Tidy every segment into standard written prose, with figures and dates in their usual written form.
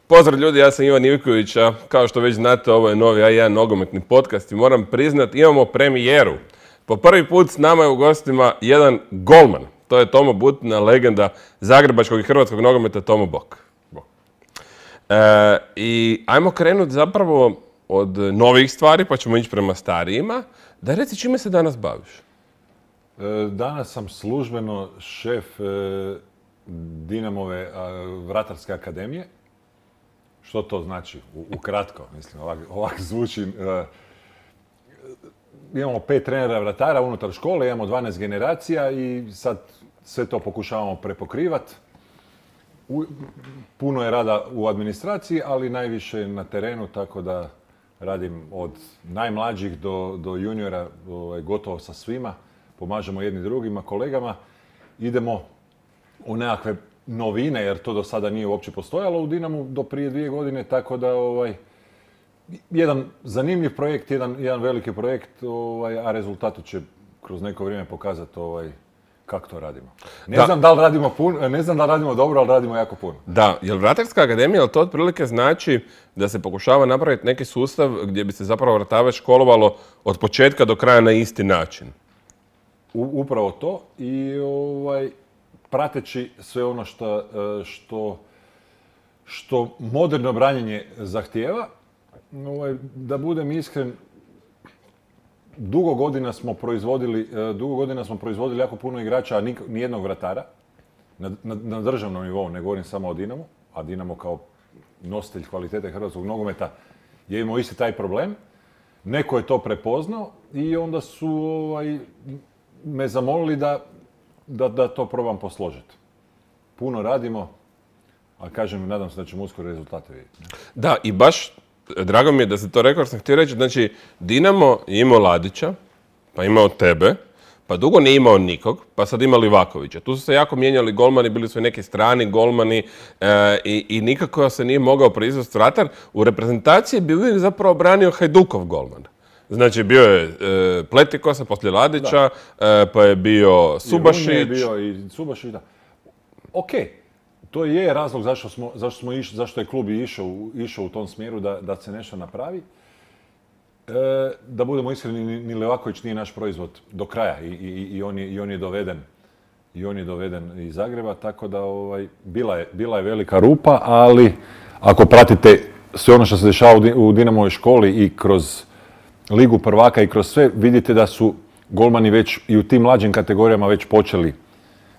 Pozdrav ljudi, ja sam Ivan Ivković, a kao što već znate, ovo je novi A1 nogometni podcast i moram priznat, imamo premijeru. Po prvi put s nama je u gostima jedan golman. To je Tomo Butina, legenda zagrebačkog i hrvatskog nogometa Tomo Bok. I ajmo krenuti zapravo od novih stvari, pa ćemo ići prema starijima. Da reci čime se danas baviš? Danas sam službeno šef Dinamove vratarske akademije. Što to znači? Ukratko, mislim, ovak zvuči. Imamo 5 trenera vratara unutar škole, imamo 12 generacija i sad sve to pokušavamo prepokrivati. Puno je rada u administraciji, ali najviše na terenu, tako da radim od najmlađih do juniora, gotovo sa svima. Pomažemo jedni drugima, kolegama. Idemo u nekakve novine, jer to do sada nije uopće postojalo u Dinamu do prije 2 godine, tako da jedan zanimljiv projekt, jedan veliki projekt, a rezultatu će kroz neko vrijeme pokazati kako to radimo. Ne znam da li radimo dobro, ali radimo jako puno. Da, jer Vratarska akademija, ali to otprilike znači da se pokušava napraviti neki sustav gdje bi se zapravo vratarac školovalo od početka do kraja na isti način. Upravo to i prateći sve ono što moderno branjenje zahtijeva. Da budem iskren, dugo godina smo proizvodili jako puno igrača, a nijednog vratara. Na državnom nivou, ne govorim samo o Dinamu, a Dinamo kao nositelj kvalitete hrvatskog nogometa je imao isti taj problem. Neko je to prepoznao i onda su me zamolili da to probam posložiti. Puno radimo, a kažem, nadam se da ćemo uskoro rezultate vidjeti. Da, i baš drago mi je da si to rekao, jer sam htio reći, znači Dinamo je imao Ladića, pa imao tebe, pa dugo nije imao nikog, pa sad ima Livakovića. Tu su se jako mijenjali golmani, bili su i neki strani golmani i nikako se nije mogao proizvesti vratar. U reprezentaciji bi uvijek zapravo branio Hajdukov golman. Znači, bio je Pletikosa poslije Ladića, pa je bio Subašić. I bio i Subašić, da. Okej, to je razlog zašto je klub išao u tom smjeru da se nešto napravi. Da budemo iskreni, ni Livaković nije naš proizvod do kraja i on je doveden iz Zagreba, tako da bila je velika rupa, ali ako pratite sve ono što se dešava u Dinamovoj školi i kroz Ligu prvaka i kroz sve, vidite da su golmani već i u tim mlađim kategorijama već počeli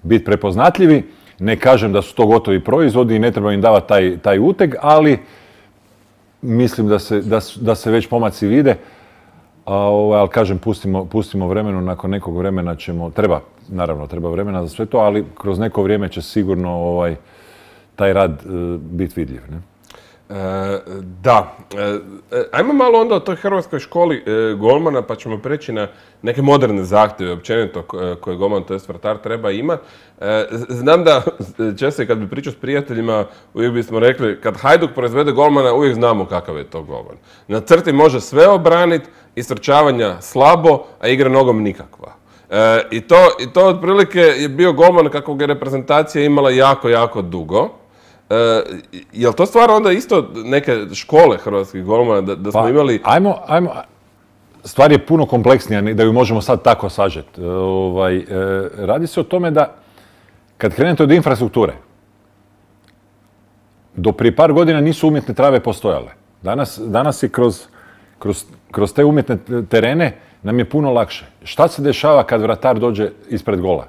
biti prepoznatljivi. Ne kažem da su to gotovi proizvodi i ne treba im davati taj uteg, ali mislim da se već pomaci vide. Ali kažem, pustimo vremenu, nakon nekog vremena treba vremena za sve to, ali kroz neko vrijeme će sigurno taj rad biti vidljiv. Ne? Da. Ajmo malo onda o toj hrvatskoj školi golmana, pa ćemo preći na neke moderne zahtjeve, općenito koje golman, to jest vratar, treba imati. Znam da često kad bi pričao s prijateljima, uvijek bismo rekli, kad Hajduk proizvede golmana, uvijek znamo kakav je to golman. Na crti može sve obraniti, istrčavanja slabo, a igra nogom nikakva. I to otprilike je bio golman kakvog je reprezentacija imala jako, jako dugo. Je li to stvar onda isto neke škole hrvatskih golmana da smo imali? Ajmo. Stvar je puno kompleksnija da ju možemo sad tako sažeti. Radi se o tome da kad krenete od infrastrukture, do prije par godina nisu umjetne trave postojale. Danas je kroz te umjetne terene nam je puno lakše. Šta se dešava kad vratar dođe ispred gola?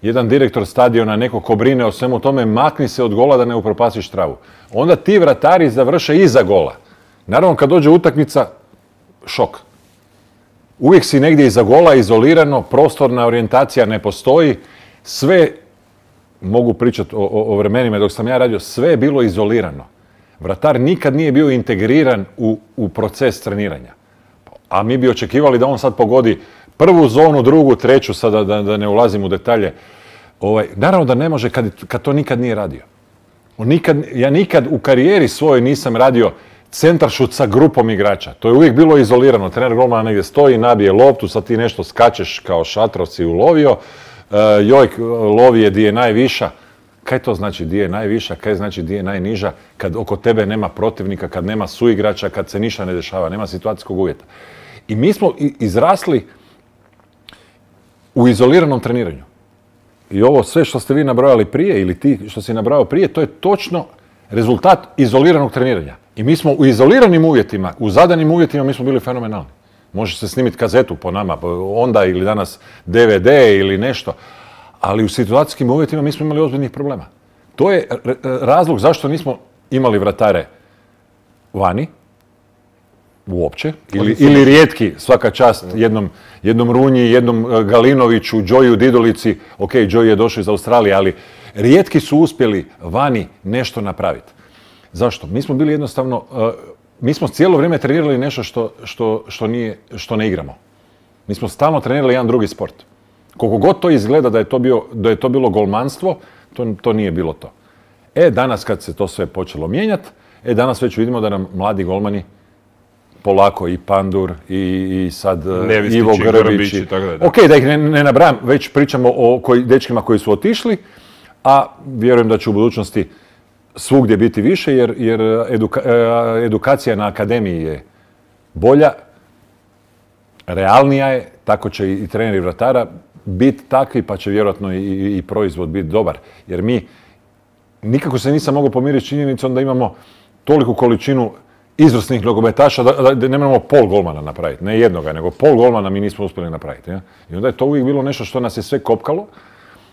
Jedan direktor stadiona, neko ko brine o svemu tome, makni se od gola da ne upropasiš travu. Onda ti vratari završe iza gola. Naravno, kad dođe utakmica, šok. Uvijek si negdje iza gola, izolirano, prostorna orijentacija ne postoji. Sve, mogu pričati o vremenima dok sam ja radio, sve je bilo izolirano. Vratar nikad nije bio integriran u proces treniranja. A mi bi očekivali da on sad pogodi prvu zonu, drugu, treću, sada da ne ulazim u detalje. Naravno da ne može kad to nikad nije radio. Ja nikad u karijeri svojoj nisam radio centaršut sa grupom igrača. To je uvijek bilo izolirano. Trener golmana negdje stoji, nabije loptu, sad ti nešto skačeš kao šatro si ulovio. Joj, lovi je di je najviša. Kaj to znači di je najviša, kaj znači di je najniža, kad oko tebe nema protivnika, kad nema suigrača, kad se ništa ne dešava, nema situacijskog uvjeta. I mi smo izrasli u izoliranom treniranju. I ovo sve što ste vi nabrojali prije, ili ti što si nabrojao prije, to je točno rezultat izoliranog treniranja. I mi smo u izoliranim uvjetima, u zadanim uvjetima, mi smo bili fenomenalni. Može se snimiti kazetu po nama, onda ili danas DVD ili nešto, ali u situacijskim uvjetima mi smo imali ozbiljnih problema. To je razlog zašto nismo imali vratare vani, uopće, ili rijetki, svaka čast, jednom Runji, jednom Galinoviću, Joyu Didolici, ok, Joy je došao iz Australije, ali rijetki su uspjeli vani nešto napraviti. Zašto? Mi smo bili jednostavno, mi smo cijelo vrijeme trenirali nešto što ne igramo. Mi smo stalno trenirali jedan drugi sport. Koliko god to izgleda da je to bilo golmanstvo, to nije bilo to. Danas kad se to sve počelo mijenjati, danas već vidimo da nam mladi golmani polako i Pandur i sad Ivo Grbić. Ok, da ih ne nabrajam, već pričamo o dečkima koji su otišli, a vjerujem da će u budućnosti svugdje biti više, jer edukacija na akademiji je bolja, realnija je, tako će i treneri vratara biti takvi, pa će vjerojatno i proizvod biti dobar. Jer mi nikako se nisam mogao pomiriti s činjenicom da imamo toliku količinu izvrsnih nogometaša da ne moramo pol golmana napraviti. Ne jednoga, nego pol golmana mi nismo uspjeli napraviti. Ja? I onda je to uvijek bilo nešto što nas je sve kopkalo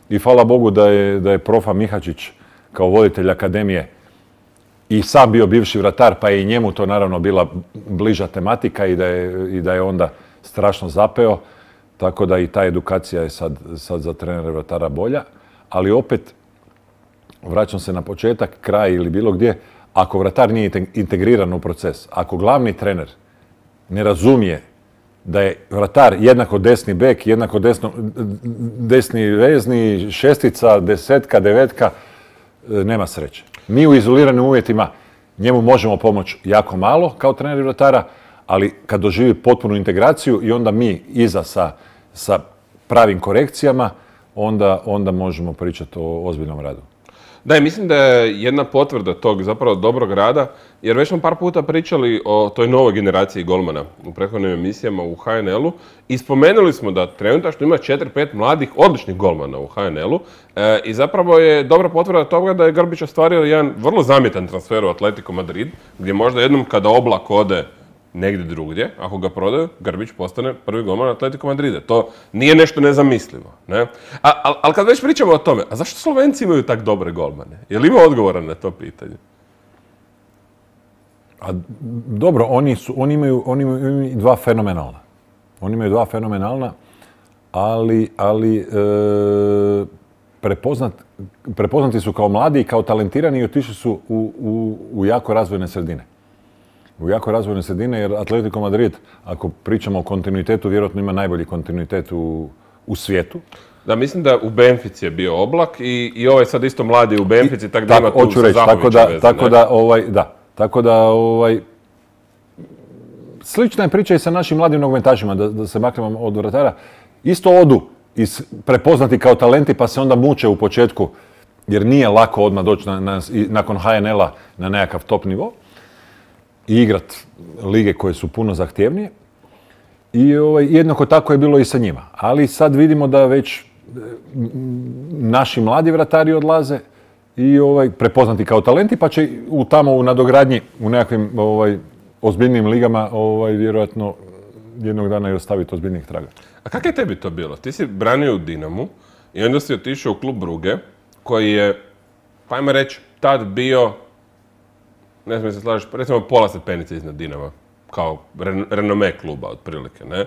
i hvala Bogu da je profa Mihačić kao voditelj akademije i sam bio bivši vratar, pa je i njemu to naravno bila bliža tematika i da je onda strašno zapeo. Tako da i ta edukacija je sad za trenere vratara bolja. Ali opet, vraćam se na početak, kraj ili bilo gdje, ako vratar nije integriran u proces, ako glavni trener ne razumije da je vratar jednako desni bek, jednako desni vezni, šestica, desetka, devetka, nema sreće. Mi u izoliranim uvjetima njemu možemo pomoći jako malo kao treneri vratara, ali kad doživi potpunu integraciju i onda mi iza sa pravim korekcijama, onda možemo pričati o ozbiljnom radu. Da, mislim da je jedna potvrda tog zapravo dobrog rada, jer već smo par puta pričali o toj novoj generaciji golmana u prethodnim emisijama u HNL-u i spomenuli smo da trenutačno ima 4-5 mladih odličnih golmana u HNL-u i zapravo je dobra potvrda toga da je Grbić ostvario jedan vrlo zamjetan transfer u Atletico Madrid, gdje možda jednom kada Oblak ode negdje drugdje, ako ga prodaju, Grbić postane prvi golman Atletico Madrida. To nije nešto nezamislivo. Ne? Ali kad već pričamo o tome, a zašto Slovenci imaju tak dobre golmane? Je li ima odgovora na to pitanje? Dobro, oni imaju dva fenomenalna. Oni imaju dva fenomenalna, ali prepoznati su kao mladi i kao talentirani i otišli su u jako razvojne sredine. U jako razvojne sredine, jer Atletico Madrid, ako pričamo o kontinuitetu, vjerojatno ima najbolji kontinuitet u svijetu. Da, mislim da u Benfici je bio Oblak i ovaj sad isto mladi u Benfici, tako da ima tu sa Zahovića veze. Tako da, slična je priča i sa našim mladim nogometašima, da se maknemo od vratara. Isto odu prepoznati kao talenti, pa se onda muče u početku, jer nije lako odmah doći nakon HNL-a na nekakav top nivo i igrat lige koje su puno zahtjevnije. I jednako tako je bilo i sa njima. Ali sad vidimo da već naši mladi vratari odlaze i prepoznati kao talenti, pa će tamo u nadogradnji, u nekakvim ozbiljnim ligama, vjerojatno jednog dana i ostaviti ozbiljnih traga. A kako je tebi to bilo? Ti si branio u Dinamu i onda si otišao u klub Brugge, koji je, pa ajmo reći, tad bio, ne znam se slažeš, recimo pola stepenice iznad Dinama, kao renome kluba, otprilike, ne?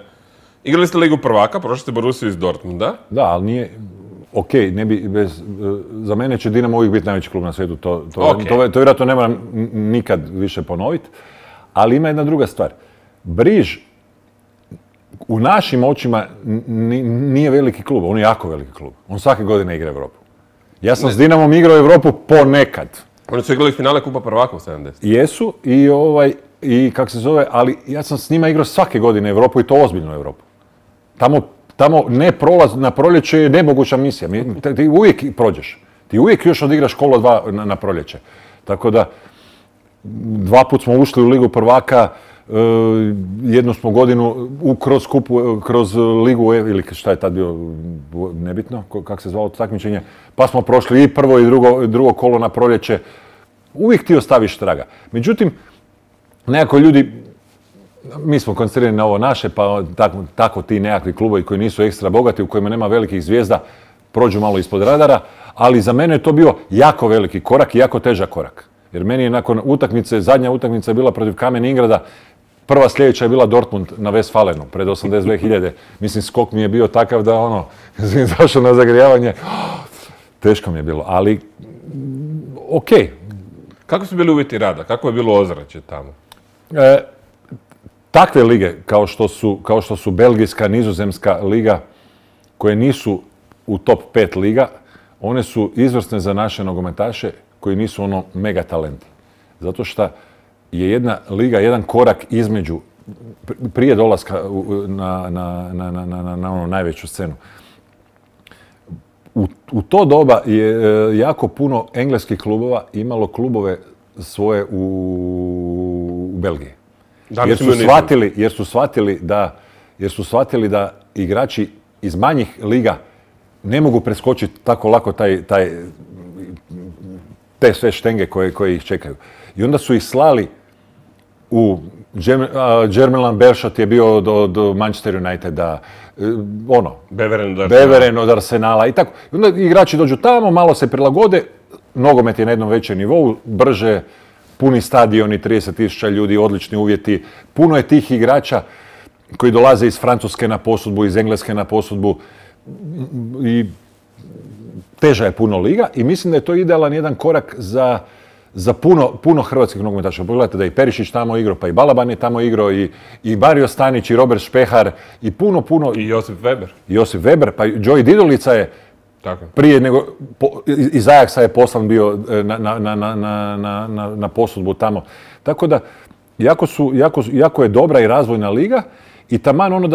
Igrali ste Ligu prvaka, prošli ste Borussiju iz Dortmunda. Da, ali nije, ne bi, za mene će Dinamo uvijek biti najveći klub na svijetu, to vjerojatno ne moram nikad više ponoviti, ali ima jedna druga stvar. Briž u našim očima nije veliki klub, on je jako veliki klub. On svake godine igra Europu. Ja sam s Dinamom igrao Europu ponekad. Oni su igrali finale Kupa prvaka u 70. Jesu i kako se zove, ali ja sam s njima igrao svake godine Europu i to ozbiljnu Europu. Tamo ne prolaz na proljeće je nemoguća misija. Ti uvijek prođeš. Ti uvijek još odigraš kolo 2 na proljeće. Tako da, 2 put smo ušli u Ligu prvaka, jednu smo godinu kroz Ligu, ili šta je tad bio, nebitno, kako se zvalo to takmičenje, pa smo prošli i prvo i drugo kolo na proljeće. Uvijek ti ostaviš traga. Međutim, nekako ljudi, mi smo koncentrirani na ovo naše, pa tako ti nekakvi klubovi koji nisu ekstra bogati, u kojima nema velikih zvijezda, prođu malo ispod radara, ali za mene je to bio jako veliki korak i jako težak korak. Jer meni je nakon utakmice, zadnja utakmica je bila protiv Kamen Ingrada, prva sljedeća je bila Dortmund na Westfalenu, pred 82.000. Mislim, skok mi je bio takav da zašao na zagrijavanje. Teško mi je bilo, ali okej. Kako su bili uvjeti rada? Kako je bilo ozračje tamo? Takve lige, kao što su Belgijska, Nizozemska liga, koje nisu u top 5 liga, one su izvrsne za naše nogometaše koji nisu mega talenti. Zato što je jedna liga, jedan korak između, prije dolaska na najveću scenu. U to doba je jako puno engleskih klubova imalo klubove svoje u Belgiji. Jer su shvatili da igrači iz manjih liga ne mogu preskočiti tako lako te sve štenge koje ih čekaju. I onda su ih slali u Germain Berchot je bio do Manchester Uniteda, Beveren od Arsenala i tako. I onda igrači dođu tamo, malo se prilagode, nogomet je na jednom većem nivou, brže, puni stadioni, 30.000 ljudi, odlični uvjeti. Puno je tih igrača koji dolaze iz Francuske na posudbu, iz Engleske na posudbu i teža je puno liga i mislim da je to idealan jedan korak za puno hrvatskih nogometaša. Pogledajte da je i Perišić tamo igrao, pa i Balaban je tamo igrao, i Mario Stanić, i Robert Špehar, i puno... I Josip Weber. Josip Weber, pa Joey Didolica je prije nego... Iz Ajaxa je poslan bio na posudbu tamo. Tako da, jako je dobra i razvojna liga i taman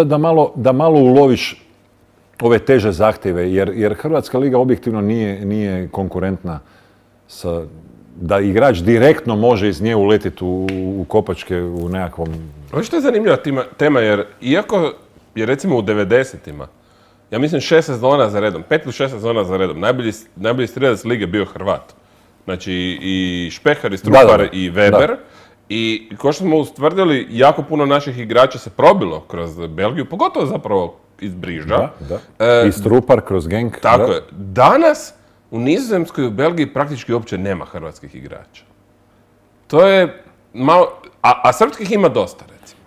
da malo uloviš ove teže zahtjeve, jer Hrvatska liga objektivno nije konkurentna da igrač direktno može iz nje uletiti u kopačke u nekakvom... Ovo što je zanimljiva tema, jer iako je recimo u 90-ima, ja mislim 6 sezona za redom, 5 ili 6 sezona za redom, najbolji strelac lige bio Hrvat. Znači i Špehar, i Strupar, i Weber. I kao što smo ustvrdili, jako puno naših igrača se probilo kroz Belgiju, pogotovo zapravo iz Briža. I Strupar kroz Genk. Tako je. Danas u Nizozemskoj i u Belgiji praktički uopće nema hrvatskih igrača. To je malo... A srpskih ima dosta, recimo.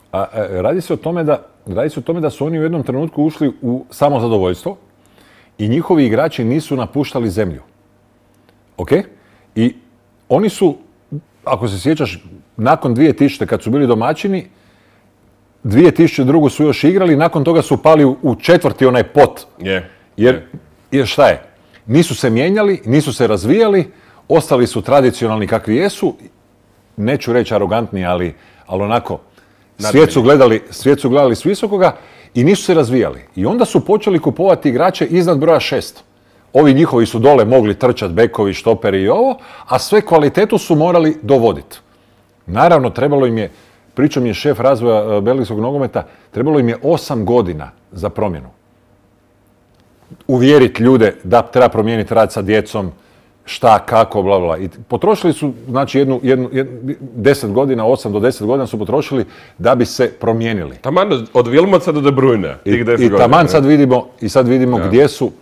Radi se o tome da su oni u jednom trenutku ušli u samozadovoljstvo i njihovi igrači nisu napuštali zemlju. Ok? I oni su, ako se sjećaš, nakon 2000. kad su bili domaćini, 2002. su još igrali, nakon toga su pali u četvrti onaj pot. Jer šta je? Nisu se mijenjali, nisu se razvijali, ostali su tradicionalni kakvi jesu, neću reći arogantni, ali onako, svijet su gledali s visokoga i nisu se razvijali. I onda su počeli kupovati igrače iznad broja 6. Ovi njihovi su dole mogli trčati, bekovi, štoperi i ovo, a sve kvalitetu su morali dovoditi. Naravno, trebalo im je, pričao mi je šef razvoja belgijskog nogometa, trebalo im je 8 godina za promjenu. Uvjeriti ljude da treba promijeniti rad sa djecom, šta, kako, bla, bla. I potrošili su, znači, 10 godina, 8 do 10 godina su potrošili da bi se promijenili. Taman od Wilmotsa do De Bruyne. I taman sad vidimo gdje su,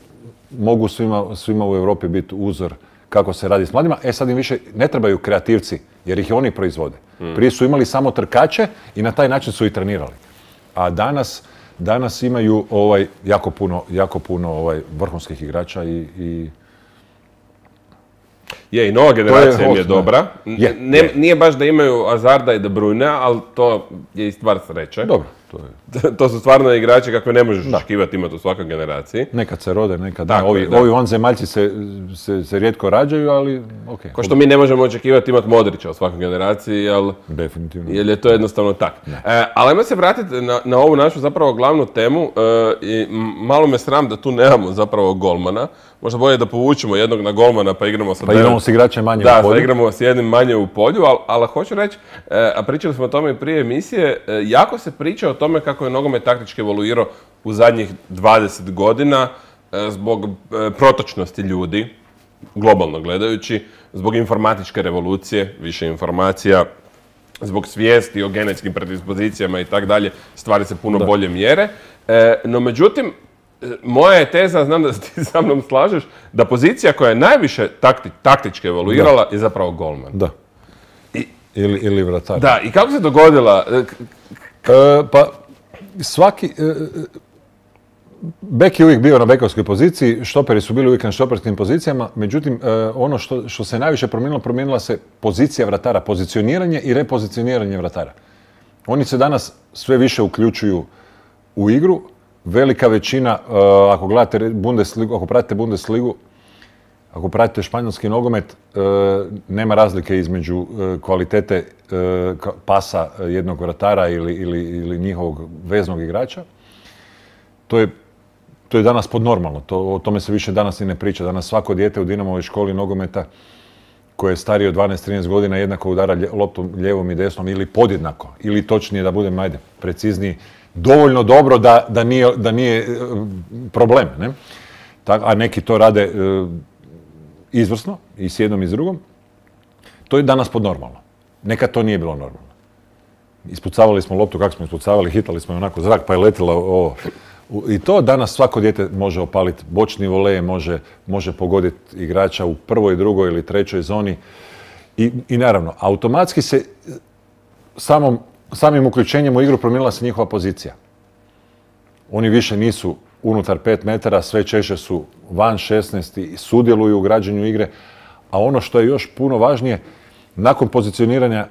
mogu svima u Europi biti uzor kako se radi s mladima. Sad im više ne trebaju kreativci, jer ih oni proizvode. Prije su imali samo trkače i na taj način su i trenirali. A danas imaju jako puno vrhunskih igrača i i nova generacija im je dobra. Nije baš da imaju Hazarda i De Bruyne, ali to je i stvar sreće. Dobro, To su stvarno igrači kakve ne možeš očekivati imati u svakoj generaciji. Nekad se rode, nekad da. Ovi vanzemaljci se rijetko rađaju, ali okej. Ko što mi ne možemo očekivati imati Modrića u svakoj generaciji, definitivno. Jer je to jednostavno tak. Ali ajmo se vratiti na ovu našu zapravo glavnu temu. I malo me sram da tu nemamo zapravo golmana. Možda bolje da povučemo jednog na golmana pa igramo sa... Pa igramo s igračem manje u polju. Da, igramo s jednim manje u polju, ali hoću reći, a pričali smo o tome i prije emisije, jako se priča o tome kako je nogomet taktički evoluirao u zadnjih 20 godina zbog protočnosti ljudi, globalno gledajući, zbog informatičke revolucije, više informacija, zbog svijesti o genetskim predispozicijama i tako dalje, stvari se puno bolje mjere. No međutim, moja je teza, znam da se ti sa mnom slažeš, da pozicija koja je najviše taktički evoluirala je zapravo golman. Da. Ili vratar. Da, i kako se dogodila? Pa svaki... Bek je uvijek bio na bekovskoj poziciji, štoperi su bili uvijek na štoperskim pozicijama, međutim, ono što se najviše promijenila se pozicija vratara, pozicioniranje i repozicioniranje vratara. Oni se danas sve više uključuju u igru. Velika većina, ako gledate Bundesligu, ako pratite Bundesligu, ako pratite španjolski nogomet, nema razlike između kvalitete pasa jednog vratara ili njihovog veznog igrača. To je danas podnormalno, o tome se više danas i ne priča. Danas svako dijete u Dinamovoj školi nogometa koje je starije od 12-13 godina jednako udara loptom lijevom i desnom ili podjednako, ili točnije da budem, precizniji, dovoljno dobro da nije problem, ne? A neki to rade izvrsno i s jednom i s drugom. To je danas podnormalno. Nekad to nije bilo normalno. Ispucavali smo loptu, kako smo ispucavali, hitali smo je onako zrak pa je letila ovo. I to danas svako dijete može opaliti bočni volej, može pogoditi igrača u prvoj, drugoj ili trećoj zoni. I naravno, automatski se samim uključenjem u igru promijenila se njihova pozicija. Oni više nisu unutar 5 metara, sve češće su van 16 i sudjeluju u građenju igre. A ono što je još puno važnije, nakon pozicioniranja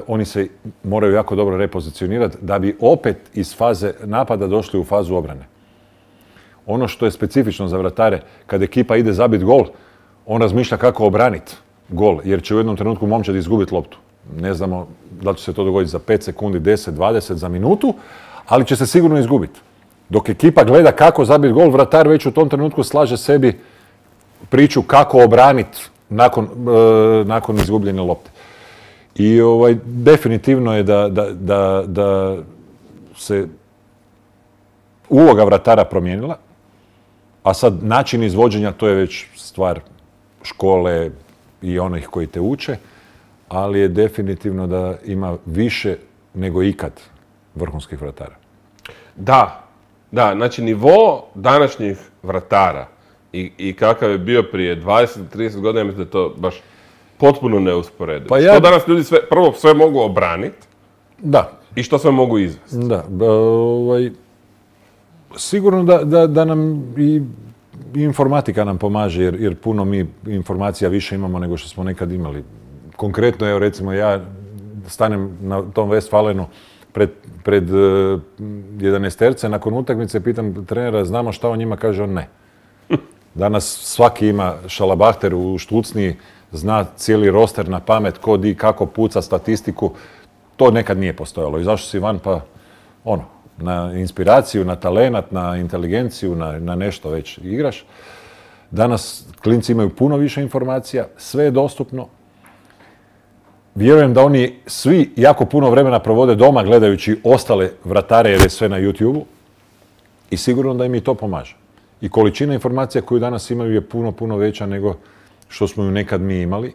oni se moraju jako dobro repozicionirati da bi opet iz faze napada došli u fazu obrane. Ono što je specifično za vratare, kad ekipa ide zabiti gol, on razmišlja kako obraniti gol, jer će u jednom trenutku momčad izgubiti loptu. Ne znamo da li će se to dogoditi za 5 sekundi, 10, 20, za minutu, ali će se sigurno izgubiti. Dok ekipa gleda kako zabiti gol, vratar već u tom trenutku slaže sebi priču kako obraniti nakon izgubljene lopte. I definitivno je da se uloga vratara promijenila, a sad način izvođenja to je već stvar škole i onih koji te uče, ali je definitivno da ima više nego ikad vrhunskih vratara. Da, znači nivo današnjih vratara i kakav je bio prije 20-30 godina, ja mislim da je to baš potpuno neusporedivo. Pa što danas ljudi prvo sve mogu obraniti i što sve mogu izvesti. Da, sigurno da nam i informatika nam pomaže, jer puno mi informacija više imamo nego što smo nekad imali. Konkretno, evo recimo ja stanem na tom Westfalenu pred 11-terce, nakon utakmice pitam trenera, znamo šta on njima, kaže on ne. Danas svaki ima šalabahter u štucniji, zna cijeli roster na pamet, ko di, kako puca statistiku. To nekad nije postojalo. I zašto si van? Pa na inspiraciju, na talenat, na inteligenciju, na nešto već igraš. Danas klinci imaju puno više informacija, sve je dostupno. Vjerujem da oni svi jako puno vremena provode doma gledajući ostale vratare jer je sve na YouTube-u i sigurno da im i to pomaže. I količina informacija koju danas imaju je puno, puno veća nego što smo ju nekad mi imali,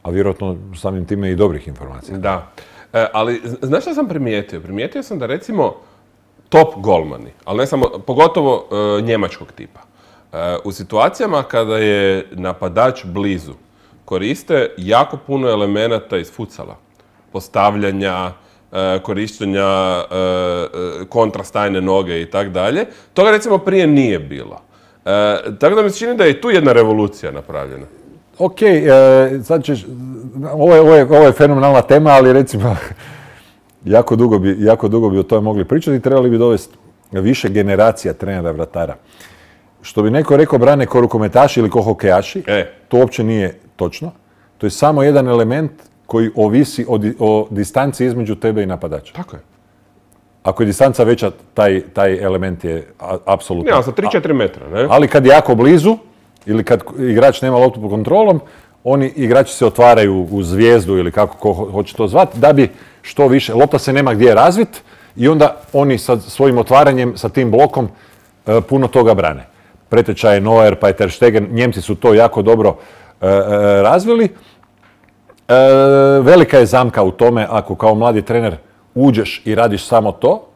a vjerojatno samim time i dobrih informacija. Da, ali znaš što sam primijetio? Primijetio sam da recimo top golmani, ali ne samo, pogotovo njemačkog tipa, u situacijama kada je napadač blizu, koriste jako puno elemenata iz futsala. Postavljanja, korištenja kontrastajne noge i tak dalje. Toga recimo prije nije bilo. Tako da mi se čini da je i tu jedna revolucija napravljena. Ok, sad ćeš, ovo je fenomenalna tema, ali recimo jako dugo bi o tome mogli pričati i trebali bi dovesti više generacija trenera vratara. Što bi neko rekao brane ko rukometaši ili ko hokejaši, to uopće nije točno. To je samo jedan element koji ovisi o distanci između tebe i napadača. Tako je. Ako je distanca veća, taj element je apsolutno... Ne, ali sa 3-4 metra, ne? Ali kad je jako blizu, ili kad igrač nema loptu pod kontrolom, igrači se otvaraju u zvijezdu ili kako ko hoće to zvati, da bi što više, lopta se nema gdje razvit i onda oni sa svojim otvaranjem, sa tim blokom, puno toga brane. Pretečaj je Neuer, pa je Ter Stegen, Njemci su to jako dobro razvili. Velika je zamka u tome ako kao mladi trener uđeš i radiš samo to,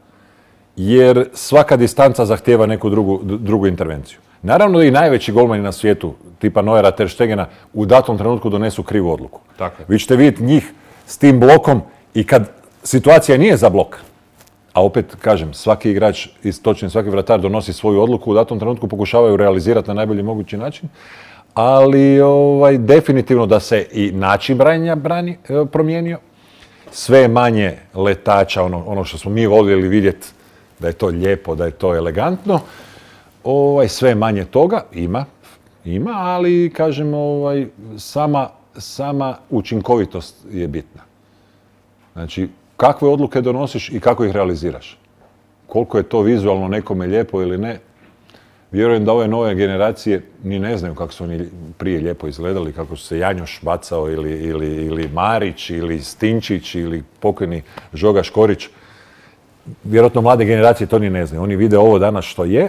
jer svaka distanca zahtijeva neku drugu intervenciju. Naravno da i najveći golmani na svijetu, tipa Neuera, Ter Stegena, u datom trenutku donesu krivu odluku. Tako je. Vi ćete vidjeti njih s tim blokom i kad situacija nije za blok, a opet, kažem, svaki igrač, točnije svaki vratar donosi svoju odluku, u datom trenutku pokušavaju realizirati na najbolji mogući način, ali definitivno da se i način branjenja promijenio. Sve je manje letača, ono što smo mi voljeli vidjeti, da je to lijepo, da je to elegantno. Sve je manje toga, ima, ali, kažem, sama učinkovitost je bitna. Znači, kakve odluke donosiš i kako ih realiziraš. Koliko je to vizualno nekome lijepo ili ne, vjerujem da ove nove generacije ni ne znaju kako su oni prije lijepo izgledali, kako su se Janjoš bacao ili Marić ili Stinčić ili pokojni Žoga Škorić. Vjerojatno mlade generacije to ni ne znaju. Oni vide ovo danas što je,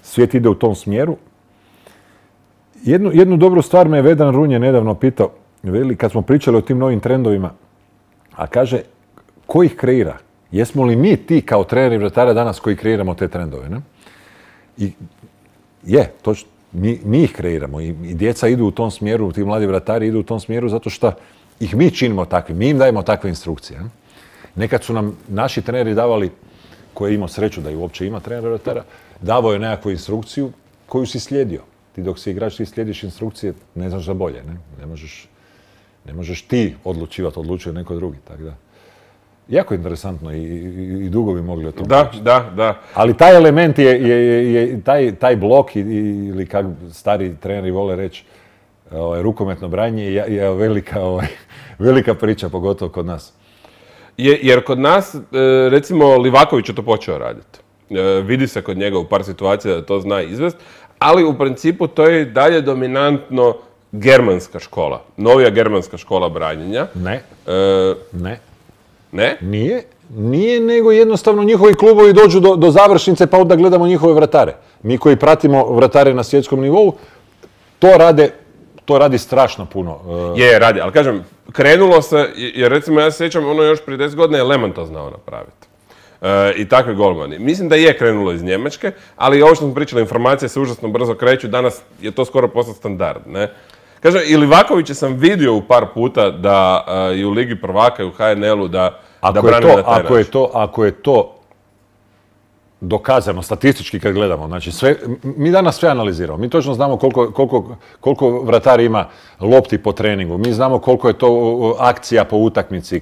svijet ide u tom smjeru. Jednu dobru stvar me je Vedran Runje nedavno pitao, kad smo pričali o tim novim trendovima, a kaže, ko ih kreira? Jesmo li mi ti kao treneri vratara danas koji kreiramo te trendove? Ne? I točno, mi ih kreiramo i djeca idu u tom smjeru, ti mladi vratari idu u tom smjeru zato što ih mi činimo takvim, mi im dajemo takve instrukcije. Ne? Nekad su nam naši treneri davali, koji je imao sreću da i uopće ima trenera vratara, davao je nekakvu instrukciju koju si slijedio. Ti dok si igrač, ti slijediš instrukcije, ne znaš za bolje. Ne možeš ti odlučivati, odlučuje neko drugi. Tako da. Jako interesantno i dugo bi mogli o tom pričati. Da. Ali taj element je taj blok ili kako stari treneri vole reći, rukometno branje je velika priča, pogotovo kod nas. Jer kod nas, recimo, Livaković je to počeo raditi. Vidi se kod njega u par situacija da to zna izvest, ali u principu to je dalje dominantno germanska škola, novija germanska škola branjenja. Ne? Nije, nego jednostavno njihovi klubovi dođu do završnice pa onda gledamo njihove vratare. Mi koji pratimo vratare na svjetskom nivou, to radi strašno puno. Radi, ali kažem, krenulo se, jer recimo ja se sjećam, još prije 10 godina je Lehmann to znao napraviti. I takvi golmani. Mislim da je krenulo iz Njemačke, ali ovo što smo pričali, informacije se užasno brzo kreću, danas je to skoro postao standard, ne? Kažem, i Livakovića sam vidio u par puta da i u Ligi prvaka i u HNL-u da brani na taj način. Ako je to dokazano, statistički kad gledamo, znači mi danas sve analiziramo. Mi točno znamo koliko vratar ima lopti po treningu, mi znamo koliko je to akcija po utakmici,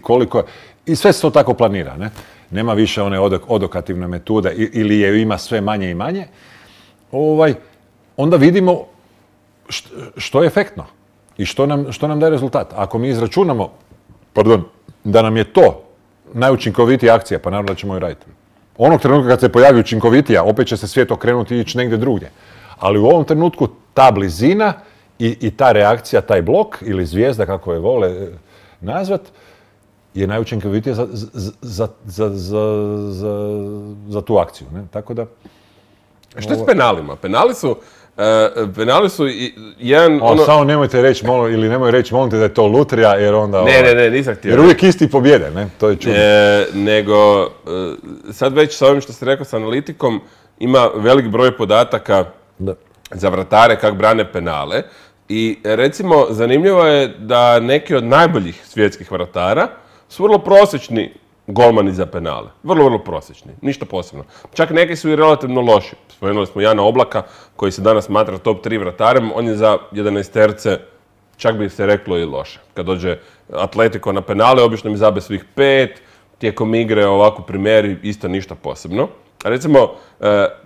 i sve se to tako planira, ne? Nema više one odokativne metode ili je ima sve manje i manje. Onda vidimo što je efektno i što nam daje rezultat. Ako mi izračunamo, da nam je to najučinkovitija akcija, pa naravno da ćemo ju raditi. Onog trenutka kad se pojavi učinkovitija, opet će se svijet okrenuti i ići negdje drugdje. Ali u ovom trenutku ta blizina i ta reakcija, taj blok ili zvijezda, kako je vole nazvat, je najučinkovitija za tu akciju. Ne? Tako da... Što je s penalima? Penali su jedan... Samo nemojte reći, ili nemoj reći, molim te da je to lutrija, jer onda... Ne, nisam htio. Jer uvijek isti pobjede, ne? To je čudno. Nego, sad već sa ovim što ste rekao s analitikom, ima velik broj podataka za vratare kako brane penale. I recimo, zanimljivo je da neki od najboljih svjetskih vratara su vrlo prosječni golmani za penale. Vrlo prosječni. Ništa posebno. Čak neki su i relativno loši. Spomenuli smo Jana Oblaka, koji se danas smatra top 3 vratarem. On je za 11-terce, čak bi se reklo i loše. Kad dođe Atletico na penale, obično mi zabe svih 5, tijekom igre ovako primjeri isto ništa posebno. Recimo,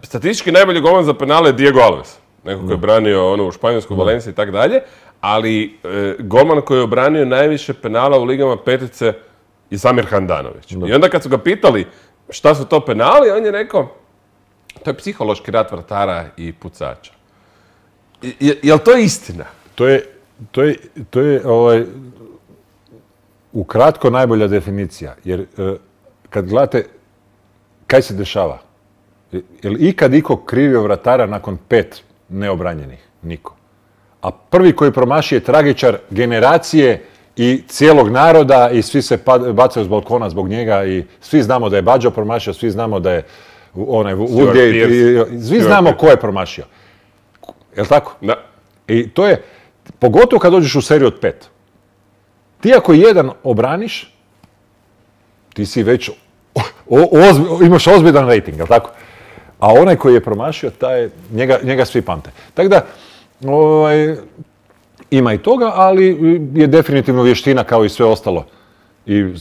statistički najbolji golman za penale je Diego Alves. Neko koji je branio u Španjolsku, Valenciji i tako dalje. Ali golman koji je obranio najviše penala u ligama petice je Samir Handanović. I onda kad su ga pitali šta su to penali, on je rekao, to je psihološki rat vratara i pucača. Je li to istina? To je ukratko najbolja definicija. Jer kad gledate kaj se dešava, je li ikad iko krivio vratara nakon 5 neobranjenih? Niko. A prvi koji promaši je tragičar generacije i cijelog naroda i svi se bacaju s balkona zbog njega i svi znamo da je Bađo promašio, svi znamo da je onaj Woodgate, svi znamo ko je promašio. Je li tako? Da. I to je, pogotovo kad dođeš u seriju od 5. Ti ako jedan obraniš, ti si već, imaš ozbiljan rating, je li tako? A onaj koji je promašio, njega svi pamte. Tako da, ima i toga, ali je definitivno vještina kao i sve ostalo. I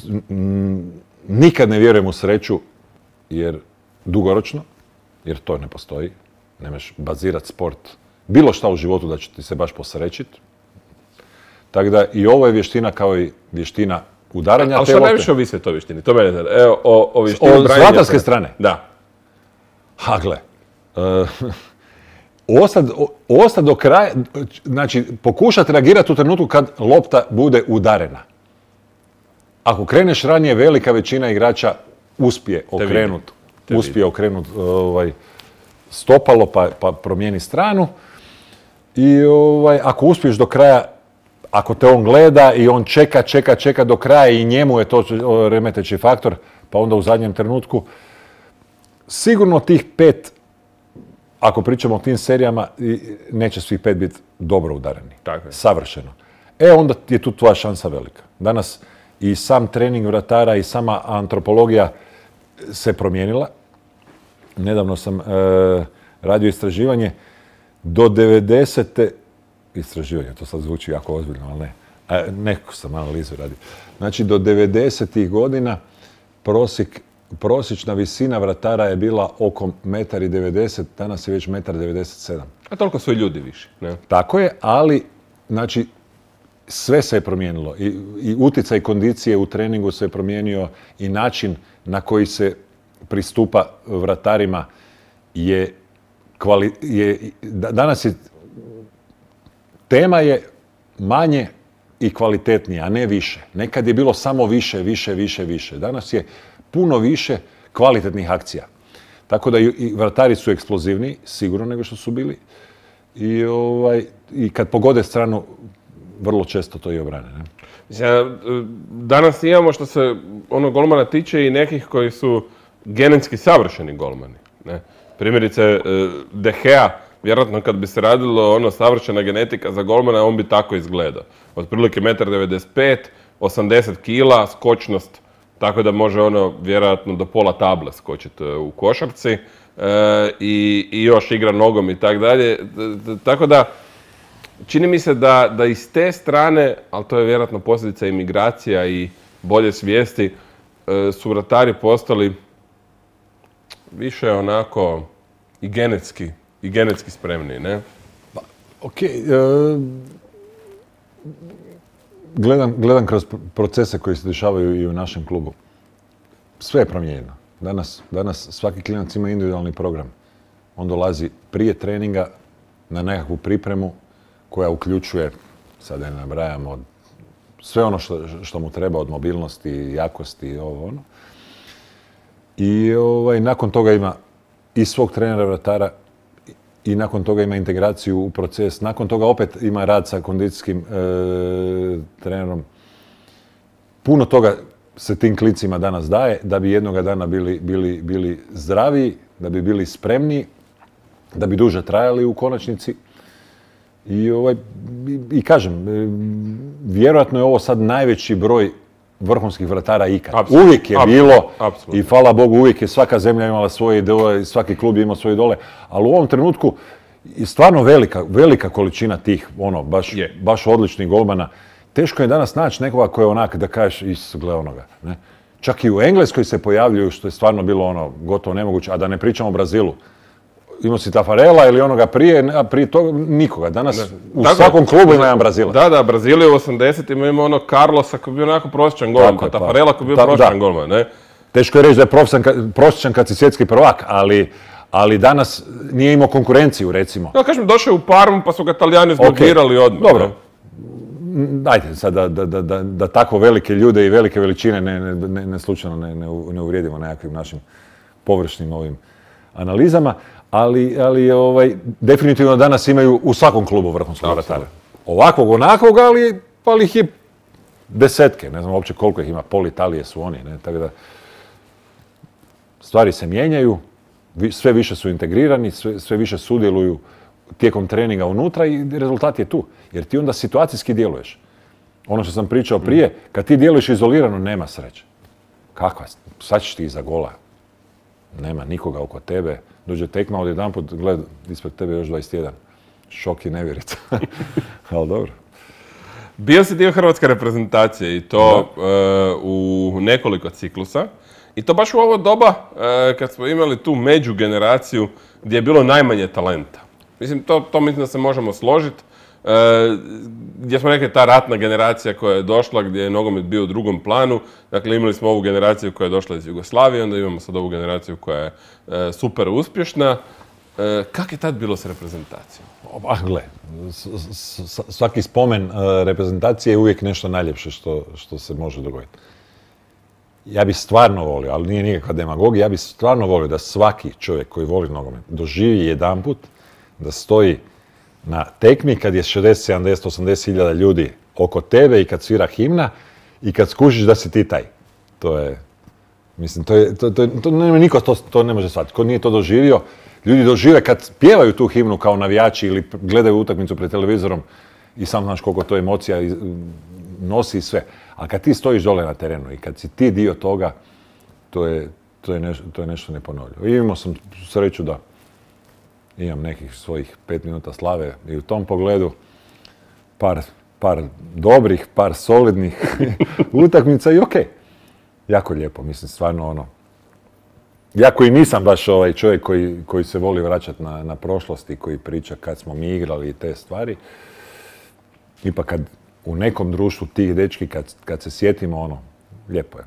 nikad ne vjerujem u sreću, jer dugoročno, jer to ne postoji. Nemaš bazirati sport, bilo šta u životu da će ti se baš posrećiti. Tako da i ovo je vještina kao i vještina udaranja te lopte. Ali što najviše ovisi o toj vještini? To mene zna. Evo, o vještini od zlatarske strane? Da. Ha, gle. Ostati do kraja, znači pokušati reagirati u trenutku kad lopta bude udarena. Ako kreneš ranije, velika većina igrača uspije okrenuti stopalo pa promijeni stranu. I ako uspiješ do kraja, ako te on gleda i on čeka do kraja i njemu je to remeteći faktor, pa onda u zadnjem trenutku, sigurno tih 5, ako pričamo o tim serijama, neće svih 5 biti dobro udareni. Tako je. Savršeno. Onda je tu tvoja šansa velika. Danas i sam trening vratara i sama antropologija se promijenila. Nedavno sam radio istraživanje. Do 90. istraživanje, to sad zvuči jako ozbiljno, ali ne. Neku sam analizu radio. Znači, do 90. godina prosječna visina vratara je bila oko 1,90 m, danas je već 1,97 m. A toliko su i ljudi više, ne? Tako je, ali, znači, sve se je promijenilo. I utjecaj kondicije u treningu se je promijenio i način na koji se pristupa vratarima danas je, tema je manje i kvalitetnije, a ne više. Nekad je bilo samo više. Danas je puno više kvalitetnih akcija. Tako da i vratari su eksplozivniji, sigurno nego što su bili. I kad pogode stranu, vrlo često to i obrane. Ne? Danas imamo što se golmana tiče i nekih koji su genetski savršeni golmani. Ne? Primjerice, De Gea, vjerojatno kad bi se radilo savršena genetika za golmana, on bi tako izgledao. Otprilike 1,95 m, 80 kila, skočnost, tako da može vjerojatno do pola table skočiti u košarci i još igra nogom i tako dalje. Tako da, čini mi se da iz te strane, ali to je vjerojatno posljedica imigracija i bolje svijesti, su vratari postali više onako i genetski spremni, ne? Gledam kroz procese koji se dešavaju i u našem klubu. Sve je promijenjeno. Danas svaki klinac ima individualni program. On dolazi prije treninga na nekakvu pripremu koja uključuje, sad ne nabrajamo, sve ono što mu treba od mobilnosti, jakosti i ovo ono. I nakon toga ima i svog trenera vratara i nakon toga ima integraciju u proces. Nakon toga opet ima rad sa kondicijskim trenerom. Puno toga se tim klincima danas daje da bi jednoga dana bili zdraviji, da bi bili spremniji, da bi duže trajali u konačnici. I kažem, vjerojatno je ovo sad najveći broj vrhunskih vratara ikad. Uvijek je bilo i hvala Bogu uvijek je svaka zemlja imala svoje idole, svaki klub je imao svoje idole, ali u ovom trenutku je stvarno velika količina tih, baš odličnih golmana. Teško je danas naći nekoga koji je onak da kažeš, gle onoga. Ne? Čak i u Engleskoj se pojavljuju, što je stvarno bilo ono gotovo nemoguće, a da ne pričamo o Brazilu. Imao si Tafarela ili onoga prije, a prije toga nikoga. Danas u svakom klubu ima jedan Brazilac. Da, Brazil je u 80-ima imao ono Carlosa koji je bio onako prosječan golman, pa Tafarela koji je bio prosječan golman, ne? Teško je reći da je prosječan kad si svjetski prvak, ali danas nije imao konkurenciju, recimo. Ja kažem, došao je u Parmu pa su ga Talijani zblokirali odmah. Dobro. Dajte sad da tako velike ljude i velike veličine ne slučajno ne uvrijedimo nekakvim našim površnim ovim analizama, ali definitivno danas imaju u svakom klubu vrhunskog vratara. Ovakvog, onakvog, ali ih je desetke, ne znam uopće koliko ih ima, pol Italije su oni, ne, tako da stvari se mijenjaju, sve više su integrirani, sve više sudjeluju tijekom treninga unutra i rezultat je tu. Jer ti onda situacijski djeluješ. Ono što sam pričao prije, kad ti djeluješ izolirano, nema sreće. Kakva? Sad ćeš ti iza gola. Nema nikoga oko tebe. Dođe tekma, odjedanput gled ispred tebe još 21. Šok i nevjerica. Ali dobro. Bio si dio hrvatske reprezentacije i to u nekoliko ciklusa. I to baš u ovo doba kad smo imali tu međugeneraciju gdje je bilo najmanje talenta. Mislim, to mislim da se možemo složiti. Gdje smo rekli ta ratna generacija koja je došla, gdje je nogomet bio u drugom planu. Dakle, imali smo ovu generaciju koja je došla iz Jugoslavije, onda imamo sad ovu generaciju koja je super uspješna. Kako je tad bilo s reprezentacijom? Gle, svaki spomen reprezentacije je uvijek nešto najljepše što se može dogoditi. Ja bih stvarno volio, ali nije nikakva demagogija, ja bih stvarno volio da svaki čovjek koji voli nogomet doživi jedanput da stoji na tekmi kad je 60, 70, 80 hiljada ljudi oko tebe i kad svira himna i kad skužiš da si ti taj. To je, mislim, niko to ne može shvatiti. Ko nije to doživio, ljudi dožive kad pjevaju tu himnu kao navijači ili gledaju utakmicu pred televizorom i sam znaš koliko to emocija nosi i sve. A kad ti stojiš dole na terenu i kad si ti dio toga, to je nešto neponovljivo. I imao sam sreću da imam nekih svojih 5 minuta slave i u tom pogledu par dobrih, par solidnih utakmica i okej. Jako lijepo, mislim, stvarno ono. Ja koji nisam baš ovaj čovjek koji se voli vraćati na prošlost i koji priča kad smo mi igrali i te stvari, ipak kad u nekom društvu tih dečki, kad se sjetimo, ono, lijepo je.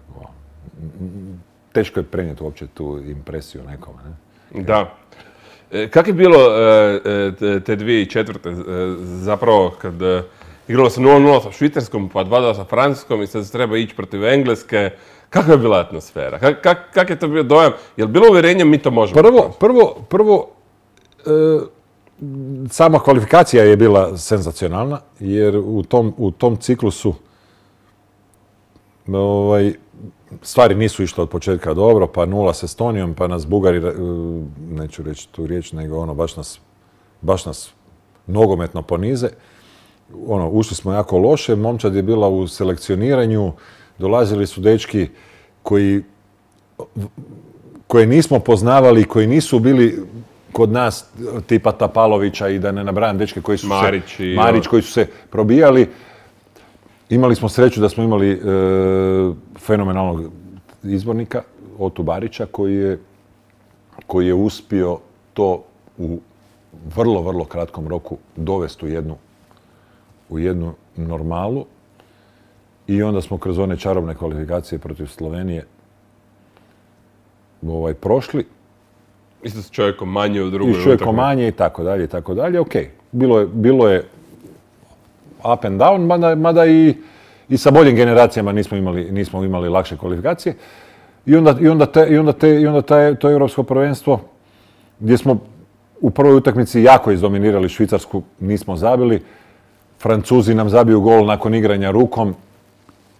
Teško je prenijeti uopće tu impresiju nekome, ne? Da. Kako je bilo te 2004. Zapravo kad igralo se 0-0 sa Švicarskom, pa 2-2 sa Francuskom i sad se treba ići protiv Engleske. Kakva je bila atmosfera? Kak je to bio dojam? Je li bilo uvjerenje mi to možemo? Prvo, sama kvalifikacija je bila senzacionalna, jer u tom ciklusu stvari nisu išle od početka dobro, pa 0 s Estonijom, pa nas Bugari, neću reći tu riječ, nego ono, baš nas nogometno ponize. Ono, ušli smo jako loše, momčad je bila u selekcioniranju, dolazili su dečki koje nismo poznavali, koji nisu bili kod nas tipa Tapalovića i da ne nabrajam dečke koji su Marić koji su se probijali. Imali smo sreću da smo imali fenomenalnog izbornika, Otu Barića, koji je uspio to u vrlo, vrlo kratkom roku dovesti u jednu normalu. I onda smo kroz one čarobne kvalifikacije protiv Slovenije prošli. Isto s čovjekom manje u drugoj utakmici. I s čovjekom manje i tako dalje, i tako dalje. Ok, bilo je up and down, mada i sa boljim generacijama nismo imali lakše kvalifikacije. I onda to europsko prvenstvo, gdje smo u prvoj utakmici jako izdominirali Švicarsku, nismo zabili. Francuzi nam zabiju gol nakon igranja rukom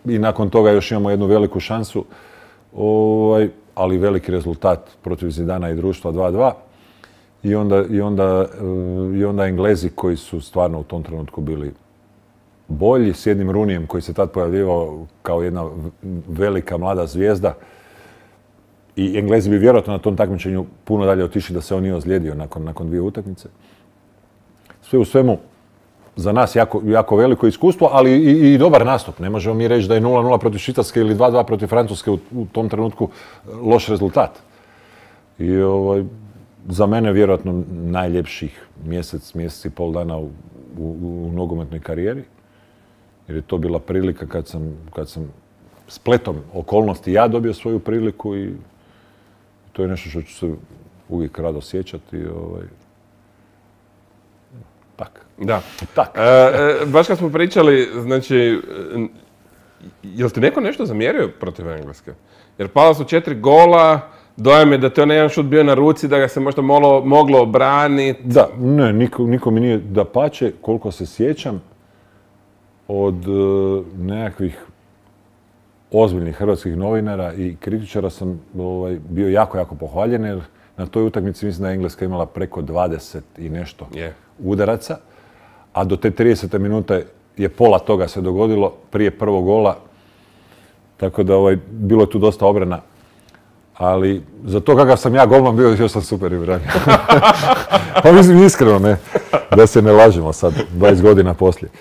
i nakon toga još imamo jednu veliku šansu, ali veliki rezultat protiv Zidana i društva 2-2. I onda Englezi koji su stvarno u tom trenutku bili bolji, s jednim Runijem koji se tad pojavljivao kao jedna velika mlada zvijezda. I Englezi bi vjerojatno na tom takmičenju puno dalje otišli da se on nije ozlijedio nakon 2 utakmice. Sve u svemu, za nas jako veliko iskustvo, ali i dobar nastup. Ne možemo mi reći da je 0-0 protiv Švicarske ili 2-2 protiv Francuske u tom trenutku loš rezultat. I za mene vjerojatno najljepših mjesec i pol dana u nogometnoj karijeri. Jer je to bila prilika kad sam spletom okolnosti ja dobio svoju priliku i to je nešto što ću se uvijek rado sjećati. Tak. Da. Tak. Baš kad smo pričali, znači, jel ti neko nešto zamjerio protiv Engleske? Jer pala su 4 gola, dojam je da te onaj jedan šut bio na ruci, da ga se možda moglo obraniti. Da, ne, niko mi nije dapače, koliko se sjećam, od nekakvih ozbiljnih hrvatskih novinara i kritičara sam bio jako pohvaljen, jer na toj utakmici mislim da je Engleska imala preko 20 i nešto udaraca, a do te 30. minute je pola toga se dogodilo prije prvog gola, tako da bilo je tu dosta obrana. Ali za to kakav sam ja golman bio, još sam super i branio. Pa mislim iskreno, ne, da se ne lažemo sad, 20 godina poslije.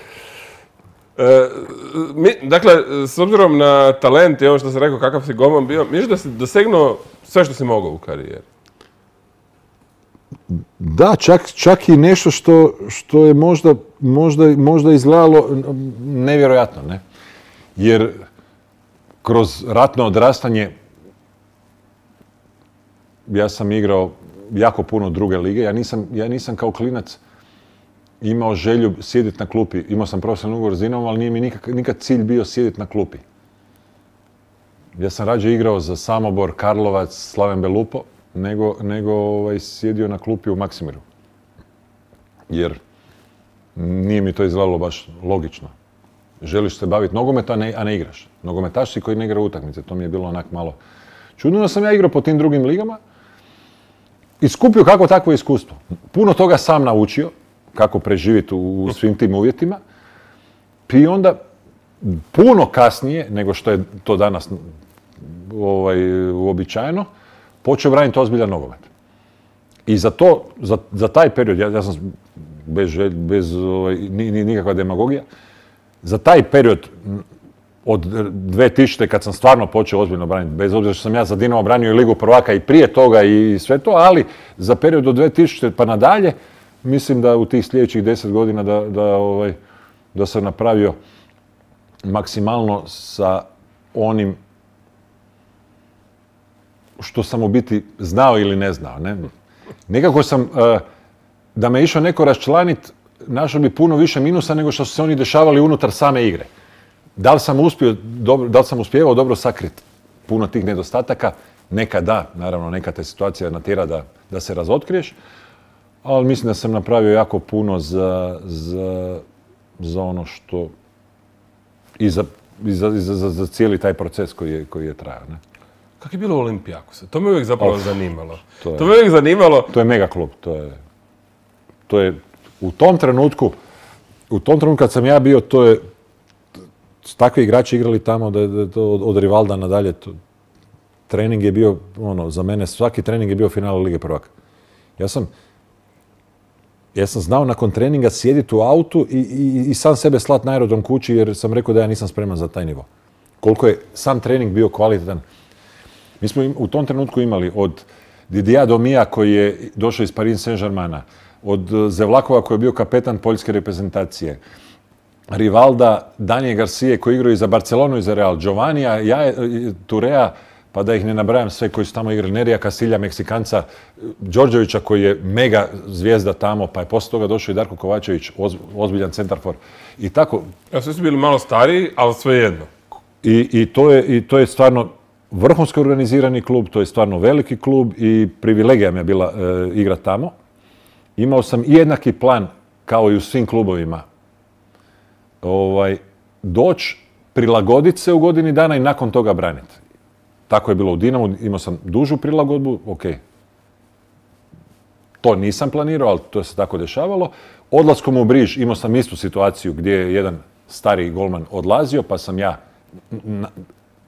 Dakle, s obzirom na talent i ovo što sam rekao kakav si golman bio, misliš da si dosegnuo sve što si mogao u karijeri? Da, čak i nešto što je možda izgledalo nevjerojatno, ne? Jer kroz ratno odrastanje ja sam igrao jako puno druge lige. Ja nisam kao klinac imao želju sjediti na klupi. Imao sam profesionalni ugovor s Dinamom, ali nije mi nikad cilj bio sjediti na klupi. Ja sam rađe igrao za Samobor, Karlovac, Slaven Belupo, nego sjedio na klupi u Maksimiru. Jer nije mi to izgledalo baš logično. Želiš se baviti nogometom, a ne igraš. Nogometaš si koji ne igra utakmice. To mi je bilo onak malo čudno da sam ja igrao po tim drugim ligama i skupio kako takvo iskustvo. Puno toga sam naučio, kako preživjeti u svim tim uvjetima. I onda, puno kasnije, nego što je to danas uobičajeno, počeo braniti ozbiljan nogomet. I za taj period, ja sam bez nikakva demagogija, za taj period od 2000. kad sam stvarno počeo ozbiljno braniti, bez obzira što sam ja za Dinamo branio i Ligu prvaka i prije toga i sve to, ali za period od 2000. pa nadalje, mislim da u tih sljedećih 10 godina da sam napravio maksimalno sa onim što sam u biti znao ili ne znao. Ne? Nekako sam, da me išao neko raščlaniti, našao bi puno više minusa nego što su se oni dešavali unutar same igre. Da li sam uspjevao dobro sakriti puno tih nedostataka? Neka da, naravno, neka te situacija natjera da se razotkriješ, ali mislim da sam napravio jako puno za ono što i za cijeli taj proces koji je trajao. Ne? Kako je bilo u Olimpijakosu? To me uvijek zapravo zanimalo. To me uvijek zanimalo. To je mega klub. To je u tom trenutku kad sam ja bio, takvi igrači igrali tamo da je to od Rivalda nadalje. Trening je bio, za mene svaki trening je bio finale Lige prvaka. Ja sam znao nakon treninga sjediti u autu i sam sebe slat na aerodrom kući jer sam rekao da ja nisam spreman za taj nivo. Koliko je sam trening bio kvalitetan. Mi smo u tom trenutku imali od Didija Domija koji je došao iz Paris Saint-Germaina, od Zevlakova koji je bio kapetan poljske reprezentacije, Rivalda, Danje Garcije koji igraju i za Barcelonu i za Real, Giovannija, Turea, pa da ih ne nabrajam sve koji su tamo igrali, Nerija Kasilja, Meksikanca, Đorđevića koji je mega zvijezda tamo, pa je poslije toga došao i Darko Kovačević, ozbiljan centarfor. I tako. Ja, svi su bili malo stariji, ali svejedno. I to je stvarno vrhunski organizirani klub, to je stvarno veliki klub i privilegija mi je bila igrati tamo. Imao sam i jednaki plan kao i u svim klubovima. Doći, prilagoditi se u godini dana i nakon toga braniti. Tako je bilo u Dinamu, imao sam dužu prilagodbu, ok. To nisam planirao, ali to se tako dešavalo. Odlaskom u Briž imao sam istu situaciju gdje je jedan stariji golman odlazio, pa sam ja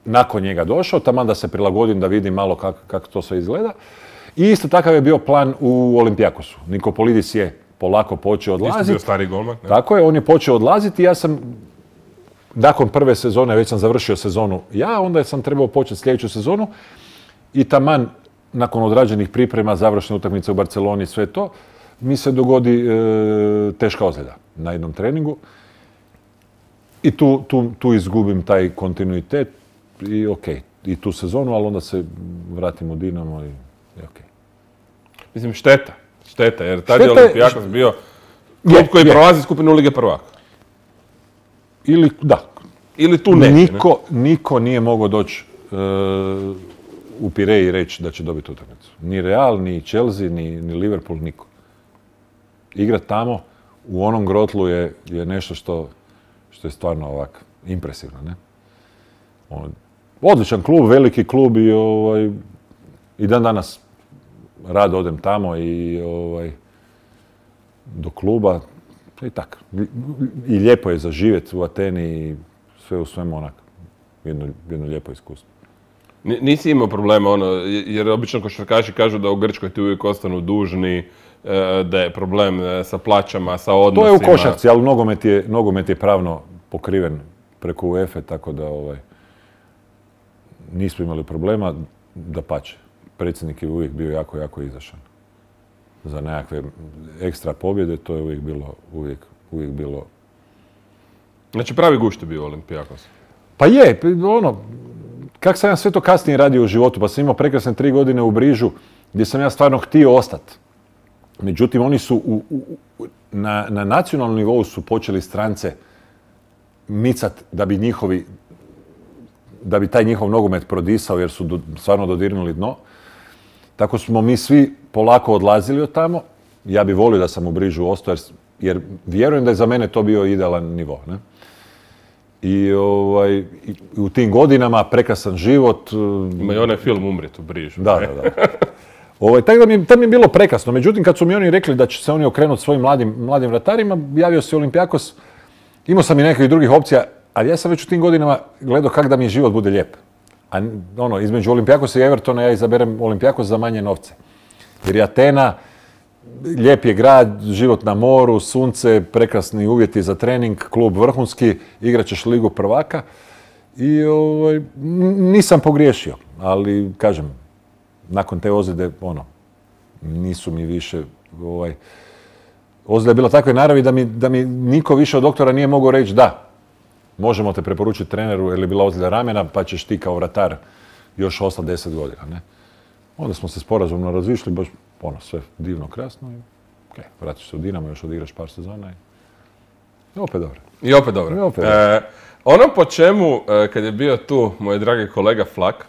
nakon njega došao, taman da se prilagodim, da vidim malo kako to sve izgleda. I isto takav je bio plan u Olimpijakosu. Nikopolidis je polako počeo Ti si odlaziti. bio stari golman. Ne? Tako je, on je počeo odlaziti i ja sam, nakon prve sezone, već sam završio sezonu ja, onda sam trebao početi sljedeću sezonu i taman, nakon odrađenih priprema, završne utakmice u Barceloni, sve to, mi se dogodi teška ozljeda na jednom treningu i tu izgubim taj kontinuitet i okej, i tu sezonu, ali onda se vratim u Dinamo i okej. Mislim, šteta, jer tad je Šteta je- Olympiakos bio klub koji prolazi skupinu Lige prvaka. Ili, da, Ili tu neće, ne? niko nije mogao doći u Pireji i reći da će dobiti utakmicu. Ni Real, ni Chelsea, ni Liverpool, niko. Igrat tamo u onom grotlu je nešto što je stvarno ovak impresivno, ne? Odličan klub, veliki klub i dan danas rado odem tamo i do kluba i tako. I lijepo je za živjeti u Ateni i sve u svemu onak. Jedno lijepo iskustvo. Nisi imao problema, jer obično košarkaši kažu da u Grčkoj ti uvijek ostanu dužni, da je problem sa plaćama, sa odnosima. To je u košarci, ali nogomet je pravno pokriven preko UEFA, tako da nismo imali problema, dapače. Predsjednik je uvijek bio jako, jako izašan. Za nekakve ekstra pobjede, to je uvijek bilo. Znači pravi gušt je bio Olympiakos. Pa je, kak sam ja sve to kasnije radio u životu, pa sam imao prekrasne 3 godine u Brižu, gdje sam ja stvarno htio ostati. Međutim, oni su na nacionalnom nivou su počeli strance micat da bi taj njihov nogomet prodisao, jer su stvarno dodirnuli dno. Tako smo mi svi polako odlazili od tamo. Ja bi volio da sam u Brižu ostao, jer vjerujem da je za mene to bio idealan nivo. Ne? I u tim godinama prekrasan život. Ima i onaj film Umrijet u Brižu. Da. Tako da mi je bilo prekrasno. Međutim, kad su mi oni rekli da će se oni okrenuti svojim mladim vratarima, javio se Olympiakos. Imao sam i nekih drugih opcija, ali ja sam već u tim godinama gledao kako da mi život bude lijep. A između Olympiakosa i Evertona ja izaberem Olympiakos za manje novce. Jer je Atena, lijep je grad, život na moru, sunce, prekrasni uvjeti za trening, klub vrhunski, igrat ćeš Ligu prvaka. I nisam pogriješio, ali kažem, nakon te ozljede, nisu mi više, ozljeda je bila takve naravi da mi niko više od doktora nije mogao reći da, možemo te preporučiti treneru jer je bila ozljeda ramena, pa ćeš ti kao vratar još ostati 10 godina. Ne? Onda smo se sporazumno razišli, baš sve divno, krasno. Vratiš se u Dinamo, još odigraš par sezona i opet dobro. I opet dobro. Ono po čemu, kad je bio tu moj dragi kolega Flak,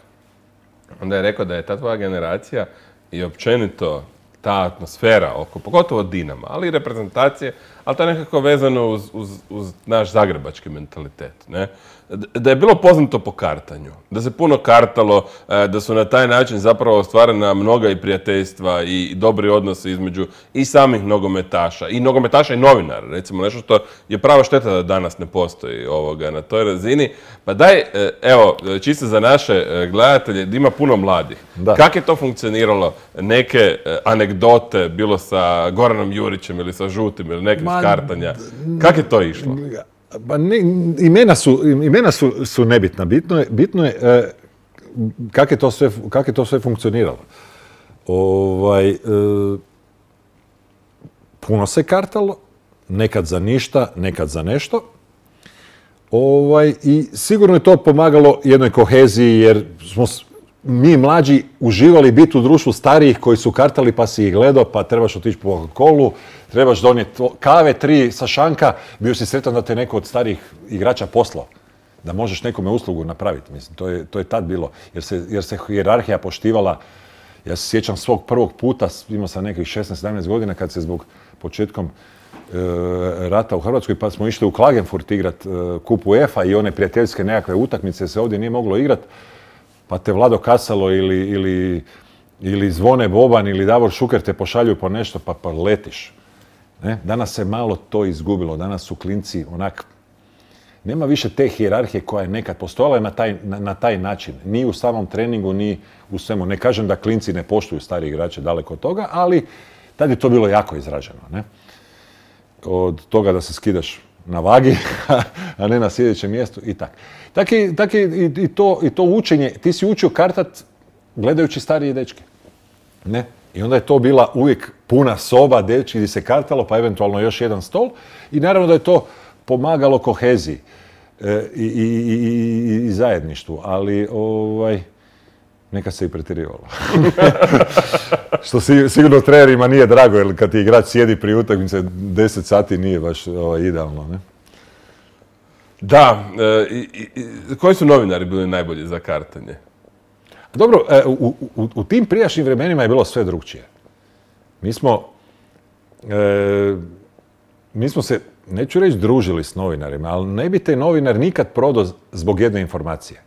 onda je rekao da je ta tvoja generacija i općenito ta atmosfera oko, pogotovo Dinama, ali i reprezentacije, ali to je nekako vezano uz naš zagrebački mentalitet. Ne? Da je bilo poznato po kartanju, da se puno kartalo, da su na taj način zapravo ostvarena mnoga i prijateljstva i dobri odnosi između i samih nogometaša i novinara, recimo nešto što je prava šteta da danas ne postoji na toj razini. Pa daj, evo, čisto za naše gledatelje, da ima puno mladih. Kako je to funkcioniralo? Neke anegdote, bilo sa Goranom Jurićem ili sa Žutim ili nekim skartanja. Kako je to išlo? Pa imena su nebitna. Bitno je kako je to sve funkcioniralo. Puno se kartalo, nekad za ništa, nekad za nešto. I sigurno je to pomagalo jednoj koheziji, jer smo mi mlađi uživali biti u društvu starijih koji su kartali pa si ih gledao, pa trebaš otići po Coca-Colu, trebaš donijeti kave 3 sa šanka, bio si sretan da te neko od starijih igrača poslao, da možeš nekome uslugu napraviti. Mislim, to je tad bilo, jer se hijerarhija poštivala. Ja se sjećam svog prvog puta, imao sam nekih 16-17 godina, kad se zbog početkom rata u Hrvatskoj, pa smo išli u Klagenfurt igrat kup UEFA i one prijateljske nekakve utakmice se ovdje nije moglo igrat, pa te Vlado Kasalo ili Zvone Boban ili Davor Šuker te pošalju po nešto, pa letiš. Ne? Danas se malo to izgubilo, danas su klinci onak, nema više te hijerarhije koja je nekad postojala na taj način. Ni u samom treningu, ni u svemu. Ne kažem da klinci ne poštuju stari igrače, daleko od toga, ali tad je to bilo jako izraženo. Ne? od toga da se skidaš na vagi, a ne na sljedećem mjestu i tako. Tako i to učenje, ti si učio kartat gledajući starije dečke. Ne? I onda je to bila uvijek puna soba, dečki, gdje se kartalo, pa eventualno još jedan stol. I naravno da je to pomagalo koheziji i zajedništvu, ali neka se i pretjerivalo. Što sigurno trenerima nije drago, jer kad ti igrač sjedi pri utakmici 10 sati nije baš idealno, ne? Da, koji su novinari bili najbolji za kartanje? Dobro, u tim prijašnjim vremenima je bilo sve drugčije. Mi smo se, neću reći družili s novinarima, ali ne bi te novinar nikad prodao zbog jedne informacije.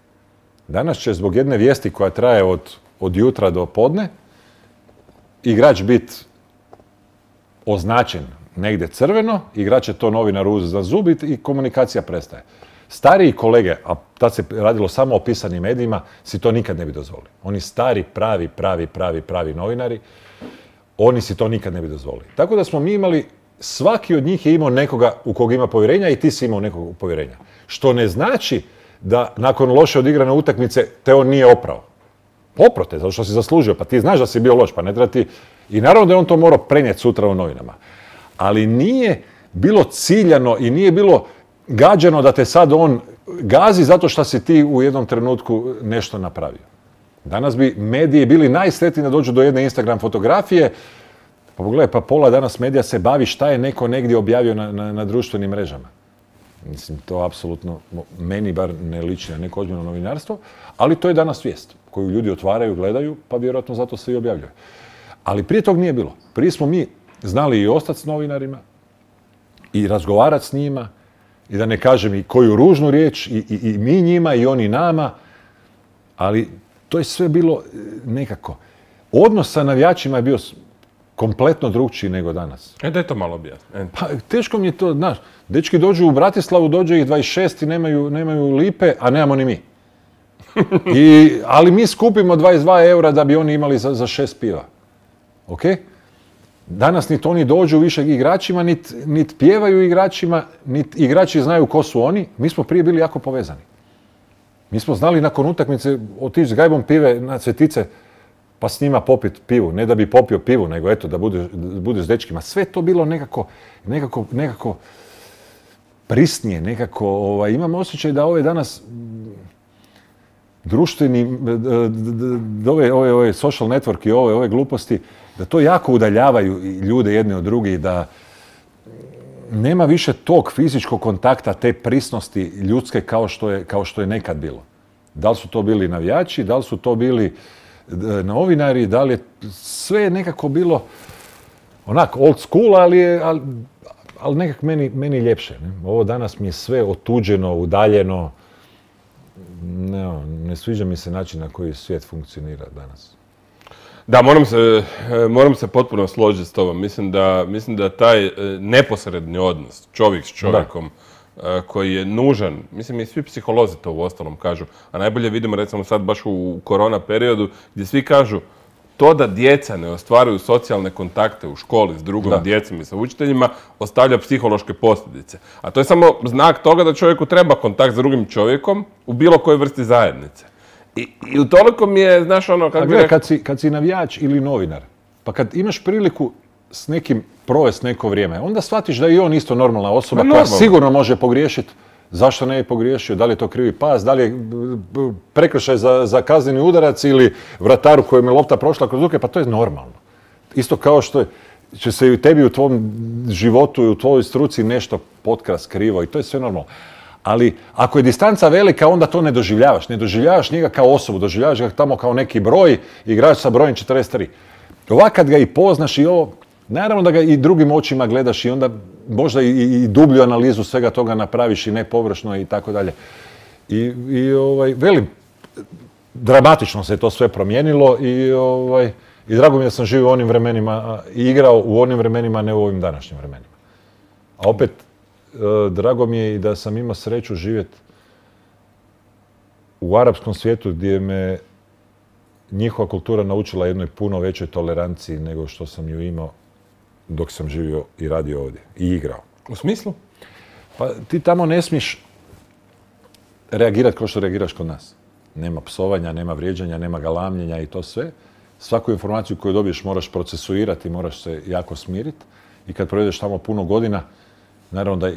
Danas će zbog jedne vijesti koja traje od jutra do podne igrač biti označen negdje crveno, igrač će to novinaru uzeti za zub i komunikacija prestaje. Stariji kolege, a tad se radilo samo o pisanim medijima, si to nikad ne bi dozvolili. Oni stari, pravi novinari, oni si to nikad ne bi dozvolili. Tako da smo mi imali, svaki od njih je imao nekoga u kog ima povjerenja i ti si imao nekog povjerenja. Što ne znači da nakon loše odigrane utakmice te on nije oprao. Oprao te, zato što si zaslužio, pa ti znaš da si bio loš, pa ne treba ti... I naravno da je on to morao prenijeti sutra u novinama. Ali nije bilo ciljano i nije bilo gađano da te sad on gazi zato što si ti u jednom trenutku nešto napravio. Danas bi mediji bili najsretniji da dođu do jedne Instagram fotografije, pa pogledaj, pa pola danas medija se bavi šta je neko negdje objavio na društvenim mrežama. Mislim, to apsolutno meni bar ne liči na neko ozbiljno novinarstvo, ali to je danas vijest koju ljudi otvaraju, gledaju, pa vjerojatno zato se i objavljuje. Ali prije tog nije bilo. Prije smo mi znali i ostati s novinarima i razgovarati s njima i da ne kažem i koju ružnu riječ i mi njima i oni nama, ali to je sve bilo nekako. Odnos sa navijačima je bio kompletno drugčiji nego danas. Da je to malo objasniti. Pa teško mi je to, znaš, dečki dođu u Bratislavu, dođe ih 26 i nemaju lipe, a nemamo ni mi. Ali mi skupimo 22 eura da bi oni imali za 6 piva. Ok? Danas niti oni dođu više igračima, niti pjevaju igračima, niti igrači znaju ko su oni. Mi smo prije bili jako povezani. Mi smo znali nakon utakmice otići s gajbom pive na Cvjetice pa s njima popiti pivu. Ne da bi popio pivu, nego eto da budeš s dečkima. Sve to bilo nekako prisnije, nekako. Imam osjećaj da ove danas društveni, ove social network i ove gluposti, da to jako udaljavaju ljude jedne od drugih, da nema više tog fizičkog kontakta, te prisnosti ljudske kao što je nekad bilo. Da li su to bili navijači, da li su to bili novinari, da li je sve nekako bilo onak old school, ali nekak meni ljepše. Ne? Ovo danas mi je sve otuđeno, udaljeno. Ne sviđa mi se način na koji svijet funkcionira danas. Da, moram se potpuno složiti s tobom. Mislim da taj neposredni odnos čovjek s čovjekom koji je nužan, mislim i svi psiholozi to uostalom kažu, a najbolje vidimo recimo sad baš u korona periodu gdje svi kažu to da djeca ne ostvaruju socijalne kontakte u školi s drugom djecom i sa učiteljima ostavlja psihološke posljedice. A to je samo znak toga da čovjeku treba kontakt s drugim čovjekom u bilo kojoj vrsti zajednice. I u toliko mi je, znaš ono... Kad si navijač ili novinar, pa kad imaš priliku s nekim provesti neko vrijeme, onda shvatiš da je i on isto normalna osoba koja sigurno može pogriješiti. Zašto ne je pogriješio? Da li je to krivi pas? Da li je prekršaj za kazneni udarac ili vrataru kojem je lopta prošla kroz ruke? Pa to je normalno. Isto kao što će se i tebi u tvom životu i u tvojoj struci nešto potkrast krivo i to je sve normalno. Ali ako je distanca velika, onda to ne doživljavaš. Ne doživljavaš njega kao osobu, doživljavaš ga tamo kao neki broj, igrač sa brojem 43. Ovak kad ga i poznaš i ovo, naravno da ga i drugim očima gledaš i onda možda i dublju analizu svega toga napraviš i ne površno i tako dalje. Velim, dramatično se to sve promijenilo i drago mi je da sam živio u onim vremenima i igrao u onim vremenima, ne u ovim današnjim vremenima. A opet, drago mi je i da sam imao sreću živjeti u arapskom svijetu gdje me njihova kultura naučila jednoj puno većoj toleranciji nego što sam ju imao dok sam živio i radio ovdje i igrao. U smislu? Pa ti tamo ne smiješ reagirati kao što reagiraš kod nas. Nema psovanja, nema vrijeđanja, nema galamljenja i to sve. Svaku informaciju koju dobiješ moraš procesuirati, moraš se jako smiriti. I kad provedeš tamo puno godina, naravno da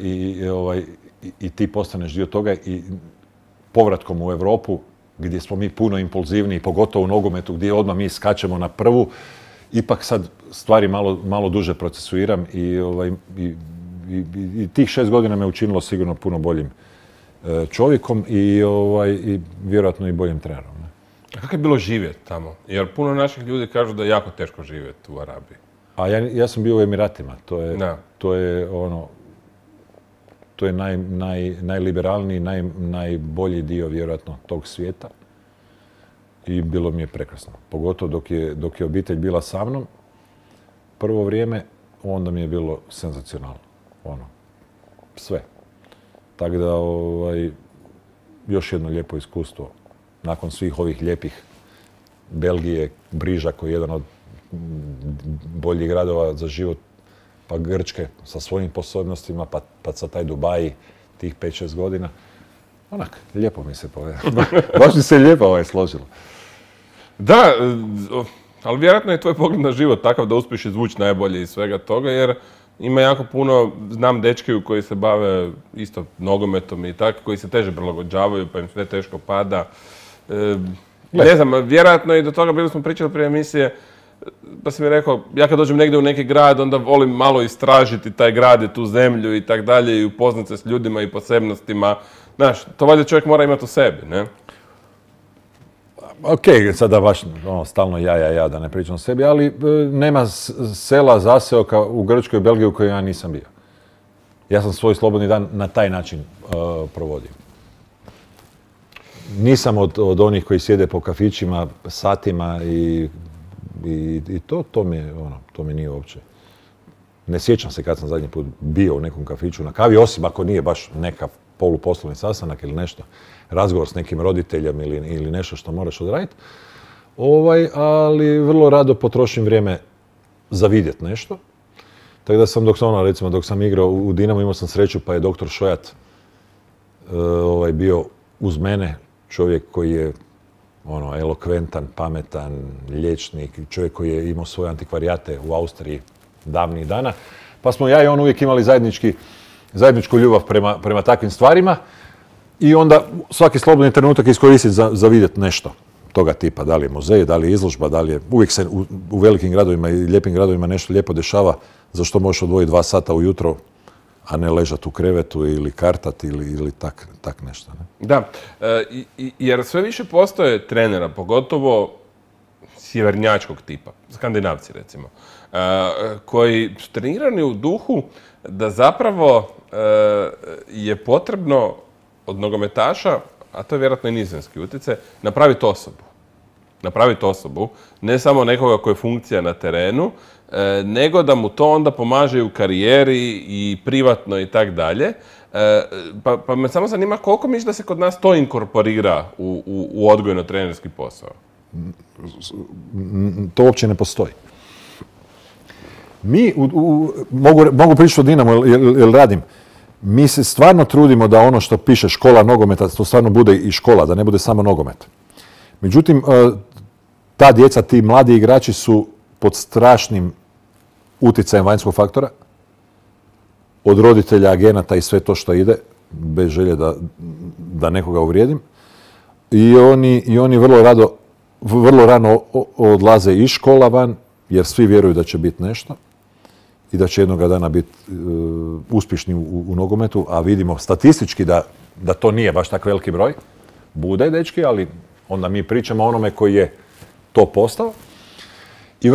i ti postaneš dio toga i povratkom u Europu, gdje smo mi puno impulzivniji, pogotovo u nogometu, gdje odmah mi skačemo na prvu, ipak sad stvari malo duže procesuiram i tih 6 godina me učinilo sigurno puno boljim čovjekom i vjerojatno i boljim trenerom. A kako je bilo živjeti tamo? Jer puno naših ljudi kažu da je jako teško živjeti u Arabiji. A ja sam bio u Emiratima. To je najliberalniji, najbolji dio vjerojatno tog svijeta. I bilo mi je prekrasno. Pogotovo dok je obitelj bila sa mnom, prvo vrijeme, onda mi je bilo senzacionalno. Sve. Tako da, još jedno lijepo iskustvo. Nakon svih ovih lijepih Belgije, Briža koji je jedan od boljih gradova za život, pa Grčke sa svojim posebnostima, pa sa taj Dubaji tih 5-6 godina. Lijepo mi se baš mi se lijepo složilo. Da, ali vjerojatno je tvoj pogled na život takav da uspiješ izvući najbolje iz svega toga, jer ima jako puno, znam dečki koji se bave isto nogometom i tako, koji se teže prilagođavaju, pa im sve teško pada. Ne znam, vjerojatno i do toga bili smo pričali prije emisije, pa si mi rekao, ja kad dođem negdje u neki grad, onda volim malo istražiti taj grad i tu zemlju i tak dalje i upoznat se s ljudima i posebnostima. Znaš, to valjda čovjek mora imati u sebi, ne? Ok, sada baš stalno ja, da ne pričam o sebi, ali nema sela, zaseoka u Grčkoj i Belgiji u kojoj ja nisam bio. Ja sam svoj slobodni dan na taj način provodio. Nisam od onih koji sjede po kafićima satima i to mi nije uopće. Ne sjećam se kad sam zadnji put bio u nekom kafiću na kavi, osim ako nije baš neka poluposlovni sastanak ili nešto, razgovor s nekim roditeljem ili nešto što moraš odraditi. Ali vrlo rado potrošim vrijeme za vidjet nešto. Tako da sam dok sam igrao u Dinamo, imao sam sreću pa je doktor Šojat bio uz mene, čovjek koji je elokventan, pametan, liječnik, čovjek koji je imao svoje antikvarijate u Austriji davnih dana. Pa smo ja i on uvijek imali zajedničku ljubav prema takvim stvarima i onda svaki slobodni trenutak iskoristiti za vidjeti nešto toga tipa. Da li je muzej, da li je izložba, da li je... Uvijek se u velikim gradovima i lijepim gradovima nešto lijepo dešava za što možeš odvojiti 2 sata ujutro, a ne ležati u krevetu ili kartati ili tak nešto. Ne? Da, jer sve više postoje trenera, pogotovo sjevernjačkog tipa, skandinavci recimo, koji su trenirani u duhu da zapravo je potrebno od nogometaša, a to je vjerojatno i nizozemski utjecaj, napraviti osobu, ne samo nekoga koji je funkcija na terenu, nego da mu to onda pomaže i u karijeri i privatno i tak dalje. Pa me samo zanima koliko misliš da se kod nas to inkorporira u odgojno-trenerski posao? To uopće ne postoji. Mi, mogu pričati o Dinamo jer radim, mi se stvarno trudimo da ono što piše škola nogometa, to stvarno bude i škola, da ne bude samo nogomet. Međutim, ta djeca, ti mladi igrači su pod strašnim utjecajem vanjskog faktora, od roditelja, agenata i sve to što ide, bez želje da nekoga uvrijedim. I oni vrlo rano odlaze iz škola van, jer svi vjeruju da će biti nešto i da će jednoga dana biti uspješni u nogometu, a vidimo statistički da to nije baš tak veliki broj. Bude, dečki, ali onda mi pričamo o onome koji je to postao. I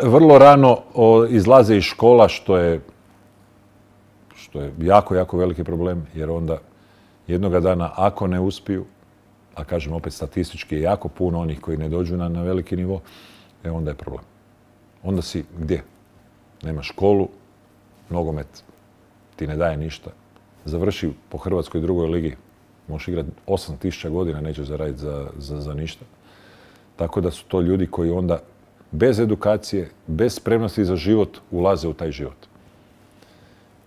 vrlo rano izlaze iz škola, što je jako, jako veliki problem, jer onda jednoga dana, ako ne uspiju, a kažem opet statistički je jako puno onih koji ne dođu na veliki nivo, onda je problem. Onda si gdje? Nemaš školu, nogomet ti ne daje ništa. Završi po Hrvatskoj drugoj ligi, možeš igrati 8000 godina, nećeš zaraditi za ništa. Tako da su to ljudi koji onda bez edukacije, bez spremnosti za život ulaze u taj život.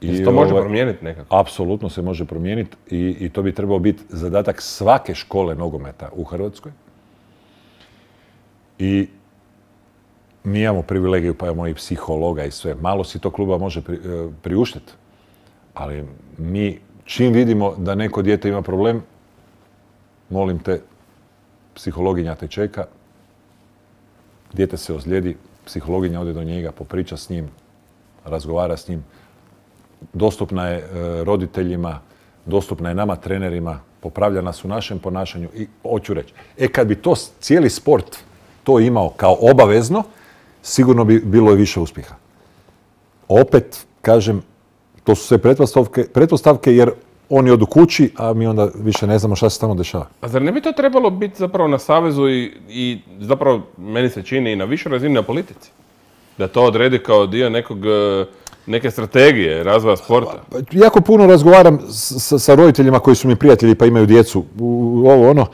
I to može promijeniti nekako? Apsolutno se može promijeniti i to bi trebao biti zadatak svake škole nogometa u Hrvatskoj. I mi imamo privilegiju, pa imamo i psihologa i sve. Malo si to kluba može priuštiti. Ali mi, čim vidimo da neko dijete ima problem, molim te, psihologinja te čeka, dijete se ozlijedi, psihologinja ode do njega, popriča s njim, razgovara s njim. Dostupna je roditeljima, dostupna je nama trenerima, popravlja nas u našem ponašanju i hoću reći. Kad bi to cijeli sport to imao kao obavezno, sigurno bi bilo i više uspjeha. Opet, kažem, to su sve pretpostavke jer oni odu kući, a mi onda više ne znamo šta se tamo dešava. A zar ne bi to trebalo biti zapravo na savezu i zapravo, meni se čini, i na višoj razini na politici? Da to odredi kao dio neke strategije razvoja sporta? Jako puno razgovaram sa roditeljima koji su mi prijatelji pa imaju djecu. Ovo ono.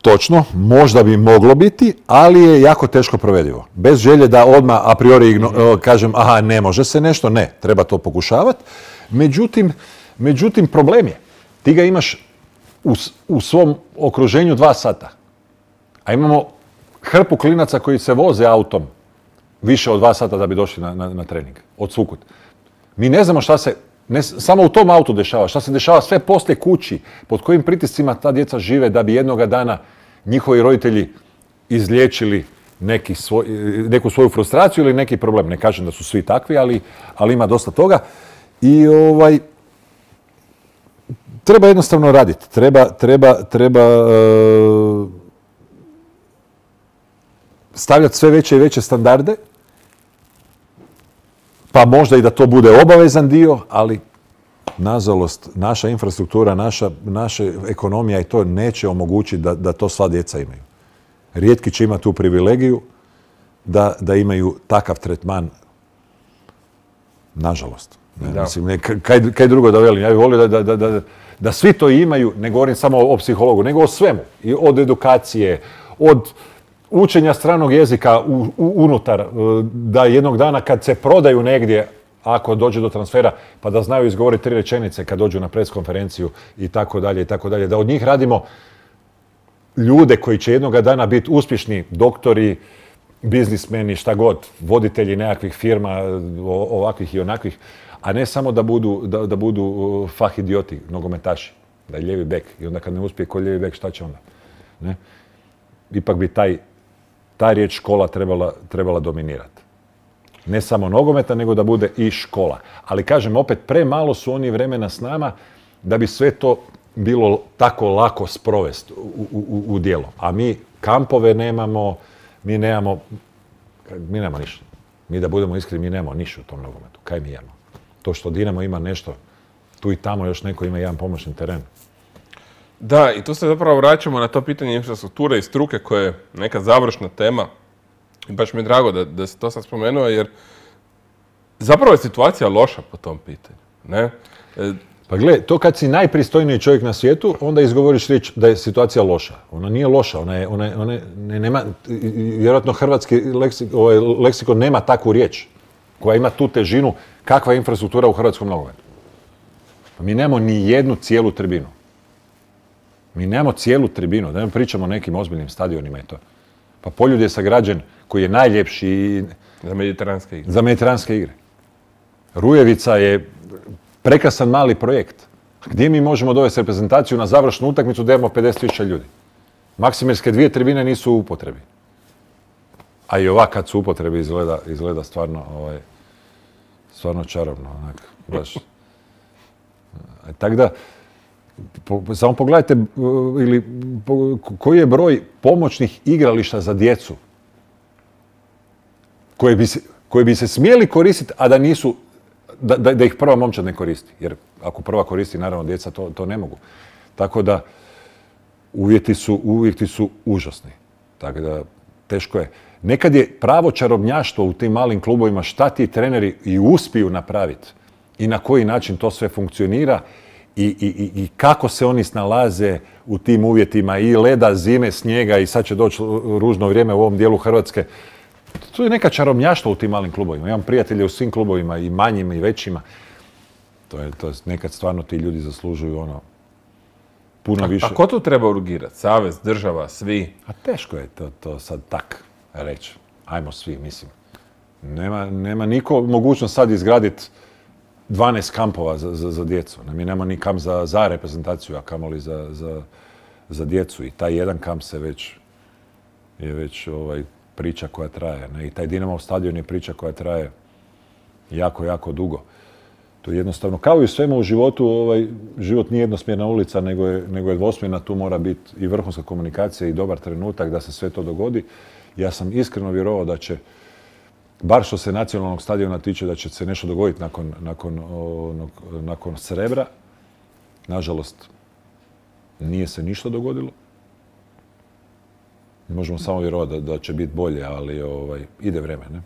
Točno, možda bi moglo biti, ali je jako teško provedivo. Bez želje da odmah a priori kažem aha, ne može se nešto, ne, treba to pokušavati. Međutim, problem je. Ti ga imaš u svom okruženju 2 sata. A imamo hrpu klinaca koji se voze autom više od 2 sata da bi došli na trening. Od svukud. Mi ne znamo šta se samo u tom autu dešava, šta se dešava sve poslije kući, pod kojim pritiscima ta djeca žive da bi jednoga dana njihovi roditelji izliječili neku svoju frustraciju ili neki problem. Ne kažem da su svi takvi, ali ima dosta toga. I treba jednostavno raditi. Treba stavljati sve veće i veće standarde, pa možda i da to bude obavezan dio, ali nažalost naša infrastruktura, naša ekonomija i to neće omogućiti da to sva djeca imaju. Rijetki će imati tu privilegiju da imaju takav tretman, nažalost. Mislim, kaj drugo da velim, ja bih volio da svi to imaju, ne govorim samo o psihologu, nego o svemu. I od edukacije, od učenja stranog jezika unutar, da jednog dana kad se prodaju negdje, ako dođe do transfera, pa da znaju izgovoriti 3 rečenice kad dođu na pres konferenciju i tako dalje, da od njih radimo ljude koji će jednoga dana biti uspješni doktori, biznismeni, šta god, voditelji nekakvih firma, ovakvih i onakvih, a ne samo da budu fah idioti, nogometaši, da je lijevi bek. I onda kad ne uspije ko lijevi bek, šta će onda? Ne? Ipak bi ta riječ škola trebala dominirati. Ne samo nogometa, nego da bude i škola. Ali kažem, opet, premalo su oni vremena s nama da bi sve to bilo tako lako sprovesti u djelo. A mi kampove nemamo, mi nemamo ništa. Mi da budemo iskreni, mi nemamo ništa u tom nogometu. Kaj mi imamo? To što Dinamo ima nešto, tu i tamo još neko ima jedan pomoćni teren. Da, i tu se zapravo vraćamo na to pitanje infrastrukture i struke koje je neka završna tema. I baš mi je drago da si to sad spomenuo, jer zapravo je situacija loša po tom pitanju. Ne? Pa gle, to kad si najpristojniji čovjek na svijetu, onda izgovoriš riječ da je situacija loša. Ona nije loša, nema, vjerojatno hrvatski leksikon nema takvu riječ koja ima tu težinu kakva je infrastruktura u hrvatskom nogometu. Mi nemamo ni jednu cijelu tribinu. Mi nemamo cijelu tribinu, da ne pričamo o nekim ozbiljnim stadionima i to. Pa Poljud je sagrađen koji je najljepši za mediteranske igre. Rujevica je prekrasan mali projekt. Gdje mi možemo dovesti reprezentaciju na završnu utakmicu da imamo 50.000 ljudi? Maksimirske 2 tribine nisu u upotrebi. A i ovak kad su u upotrebi izgleda stvarno čarobno. Baš. Tako da, samo pogledajte koji je broj pomoćnih igrališta za djecu koje bi se smjeli koristiti, a da nisu, da ih prva momčad ne koristi. Jer ako prva koristi, naravno, djeca to ne mogu. Tako da uvjeti su užasni. Tako da teško je. Nekad je pravo čarobnjaštvo u tim malim klubovima šta ti treneri i uspiju napraviti i na koji način to sve funkcionira i kako se oni snalaze u tim uvjetima i leda, zime, snijega i sad će doći ružno vrijeme u ovom dijelu Hrvatske. tu je neka čarobnjaštva u tim malim klubovima. Imam prijatelje u svim klubovima, i manjima i većima. To je nekad stvarno ti ljudi zaslužuju puno više. A ko tu treba urgirati? Savez, država, svi? A teško je to sad tak reći. Ajmo svi, mislim. Nema niko mogućnost sad izgraditi 12 kampova za djecu. Mi nema ni kamp za reprezentaciju, a kamoli za djecu. I taj jedan kamp je već priča koja traje. Ne? I taj Dinamov stadion je priča koja traje jako, jako dugo. To je jednostavno, kao i u svemu u životu, život nije jednosmjerna ulica, nego je dvosmjerna. Tu mora biti i vrhunska komunikacija i dobar trenutak da se sve to dogodi. Ja sam iskreno vjerovao da će, bar što se nacionalnog stadiona tiče, da će se nešto dogoditi nakon Srebra. Nažalost, nije se ništa dogodilo. Možemo samo vjerovati da će biti bolje, ali ide vreme, ne?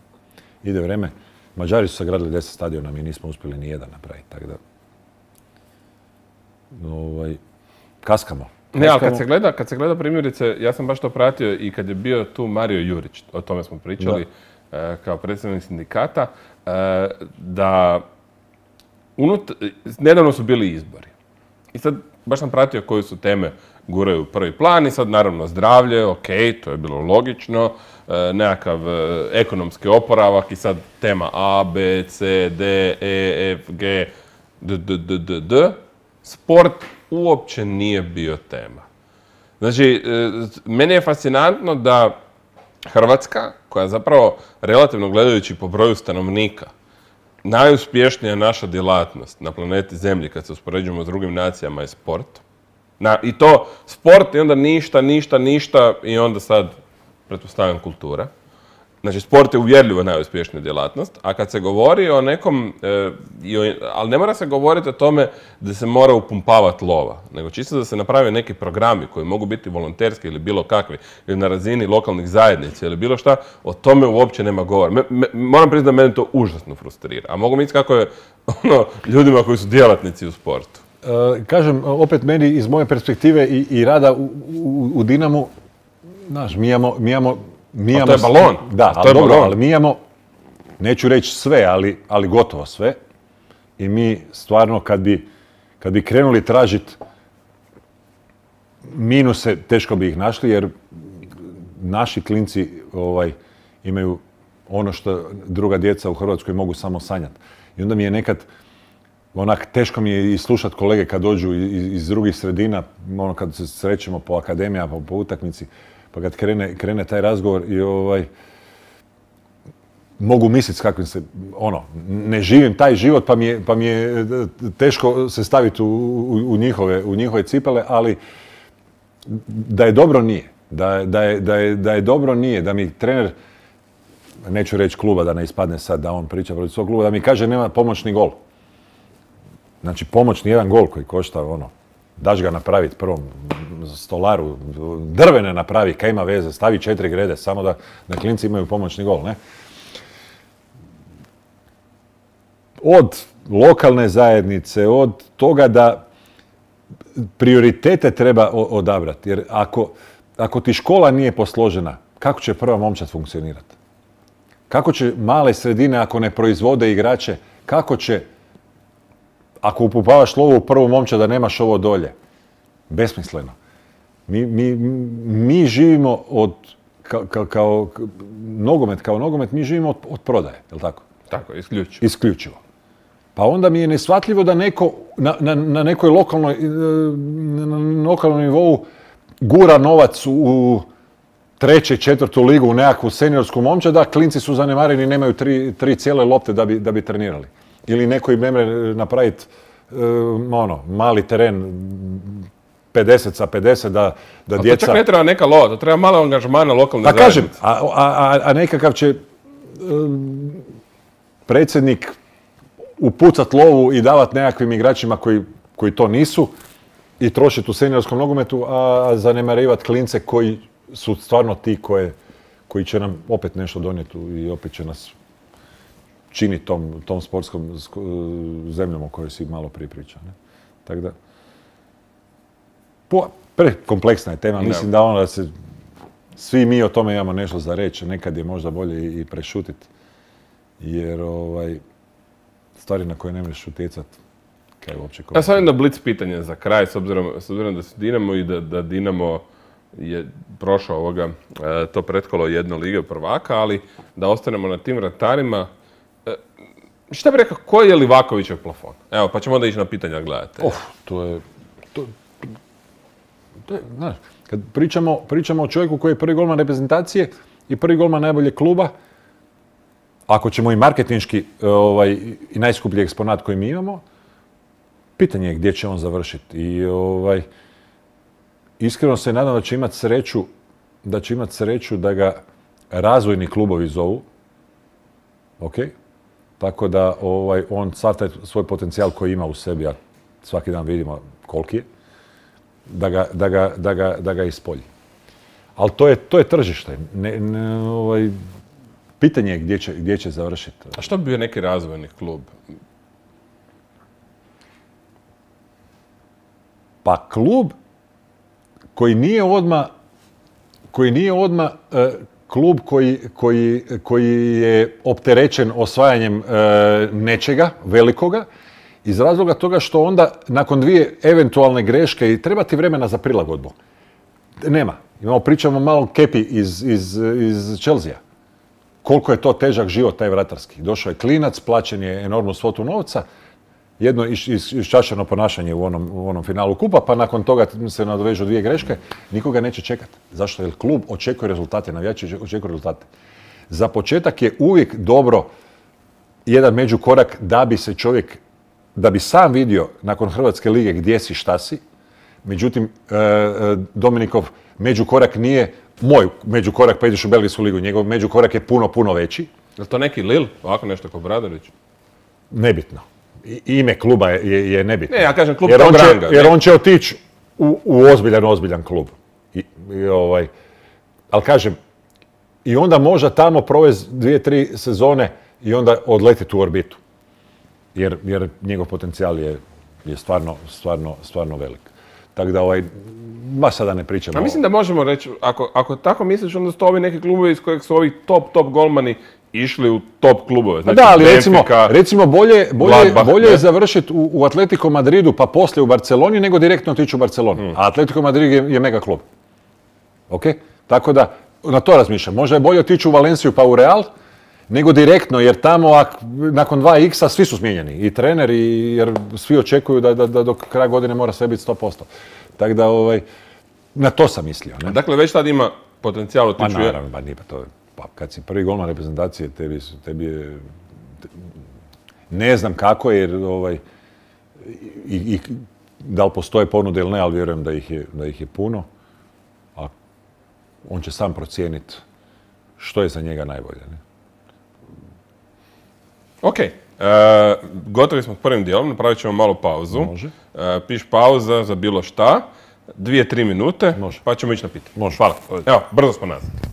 Ide vreme. Mađari su sagradili 10 stadiona, mi nismo uspjeli ni jedan napraviti, tako da kaskamo. Ne, ali kad se gleda primjerice, ja sam baš to pratio i kad je bio tu Mario Jurić, o tome smo pričali, kao predstavnik sindikata, da nedavno su bili izbori. I sad baš sam pratio koje su teme guraju u prvi plan i sad naravno zdravlje, ok, to je bilo logično, nekakav ekonomski oporavak i sad tema A, B, C, D, E, F, G, D. Sport uopće nije bio tema. Znači, meni je fascinantno da Hrvatska, koja zapravo relativno gledajući po broju stanovnika, najuspješnija naša djelatnost na planeti Zemlji kad se uspoređujemo s drugim nacijama je sport. I to sport i onda ništa i onda sad pretpostavljam kultura. Znači, sport je uvjerljivo najuspješnija djelatnost, a kad se govori o nekom, ali ne mora se govoriti o tome da se mora upumpavati lova, nego čisto da se naprave neki programi koji mogu biti volonterski ili bilo kakvi, ili na razini lokalnih zajednica ili bilo šta, o tome uopće nema govora. Moram priznati da mene to užasno frustrira, a mogu misliti kako je ljudima koji su djelatnici u sportu. Kažem, opet meni iz moje perspektive i rada u Dinamu, znaš, mi imamo to je balon. Da, ali mi imamo, neću reći sve, ali gotovo sve. I mi stvarno kad bi krenuli tražiti minuse, teško bi ih našli, jer naši klinci imaju ono što druga djeca u Hrvatskoj mogu samo sanjati. I onda mi je nekad, teško mi je i slušati kolege kad dođu iz drugih sredina, kad se srećemo po akademijama, po utakmici, pa kad krene taj razgovor i mogu misliti s kakvim se, ne živim taj život pa mi je teško se staviti u njihove cipele, ali da je dobro nije. Da je dobro nije, da mi trener, neću reći kluba da ne ispadne sad da on priča protiv svog kluba, da mi kaže nema pomoćni gol. Znači pomoćni jedan gol koji košta daš ga napraviti prvom stolaru, drvene napravi, kaj ima veze, stavi 4 grede, samo da klinci imaju pomoćni gol, ne? Od lokalne zajednice, od toga da prioritete treba odabrati, jer ako ti škola nije posložena, kako će prva momčad funkcionirati? Kako će male sredine, ako ne proizvode igrače, kako će, ako upumpavaš lovu u prvu momčad, da nemaš ovo dolje? Besmisleno. Mi živimo kao nogomet, mi živimo od prodaje, je li tako? Tako, isključivo. Isključivo. Pa onda mi je neshvatljivo da neko na nekoj lokalnom nivou gura novac u 3., 4. ligu u nekakvu seniorsku momčad, da klinci su zanemareni i nemaju 3 cijele lopte da bi trenirali. Ili neko im ne može napraviti mali teren 50 sa 50 da djeca... To čak ne treba neka lova, to treba malo angažmana lokalne zajednice. Kažem, a nekakav će predsjednik upucat lovu i davat nekakvim igračima koji to nisu i trošiti u seniorskom nogometu, a zanemarivat klince koji su stvarno ti koji će nam opet nešto donijeti i opet će nas činiti tom sportskom zemljom o kojoj si malo prije pričao. Tako da, prekompleksna je tema. Mislim da se Svi mi o tome imamo nešto za reći, nekad je možda bolje i prešutiti. Jer stvari na koje ne možeš utjecati, kaj uopće Ja sam jedno blic pitanje za kraj, s obzirom da se Dinamo i da Dinamo je prošao to pretkolo jedno Lige prvaka, ali da ostanemo na tim vratarima. Šta bi rekao, koji je Livakovićev plafon? Evo, pa ćemo onda ići na pitanja gledate. Znaš, kad pričamo o čovjeku koji je prvi golman reprezentacije i prvi golman najboljeg kluba, ako ćemo i marketinški i najskuplji eksponat koji mi imamo, pitanje je gdje će on završiti. I iskreno se nadam da će imati sreću da ga razvojni klubovi zovu. Ok? Tako da on sav taj svoj potencijal koji ima u sebi, a svaki dan vidimo koliki je, da ga ispolji. Ali to je tržište. Pitanje je gdje će završiti. A što bi bio neki razvojni klub? Pa klub koji nije odmah klub koji je opterećen osvajanjem nečega velikoga, iz razloga toga što onda nakon dvije eventualne greške i treba ti vremena za prilagodbu. Nema. Pričamo malo Kepi iz Chelsea. Koliko je to težak život taj vratarski. Došao je klinac, plaćen je enormnu svotu novca, jedno iščašeno ponašanje u onom finalu kupa, pa nakon toga se nadovežu dvije greške, nikoga neće čekati. Zašto? Jer klub očekuje rezultate, navijači očekuju rezultate. Za početak je uvijek dobro jedan međukorak da bi sam vidio nakon Hrvatske lige gdje si, šta si. Međutim, Dominikov međukorak nije moj međukorak pa ideš u Belgijsku ligu. Njegov međukorak je puno veći. Je li to neki Lil? Ovako nešto kao Bradorić? Nebitno. Ime kluba je nebitno. Ne, ja kažem klub tog ranga. Jer on će otići u ozbiljan klub. Ali kažem, i onda možda tamo provesti 2-3 sezone i onda odletiti u orbitu. Jer njegov potencijal je stvarno velik. Tako da baš sada ne pričamo. A mislim da možemo reći, ako tako misliš, onda su to ovi neki klubovi iz kojeg su ovi top golmani išli u top klubove. Znači, da, ali recimo bolje je završiti u Atletico Madridu pa poslije u Barceloni nego direktno otići u Barcelonu. A Atletico Madrid je mega klub. Ok? Tako da na to razmišljam. Možda je bolje otići u Valenciju pa u Real nego direktno, jer tamo nakon 2x-a svi su smijenjeni. I trener, jer svi očekuju da do kraja godine mora sve biti 100%. Tako da na to sam mislio. Ne? Dakle, već tad ima potencijal otići. Pa naravno, nije pa to. Pa kad si prvi golman reprezentacije, tebi je... Ne znam kako, jer i da li postoje ponude ili ne, ali vjerujem da ih je puno. A on će sam procijeniti što je za njega najbolje. Ne? Ok. Gotovi smo s prvim dijelom, napravit ćemo malu pauzu. Može. Piš pauza za bilo šta, 2-3 minute, Može. pa ćemo ići na pitanje. Može. Hvala. Evo, brzo smo nazad.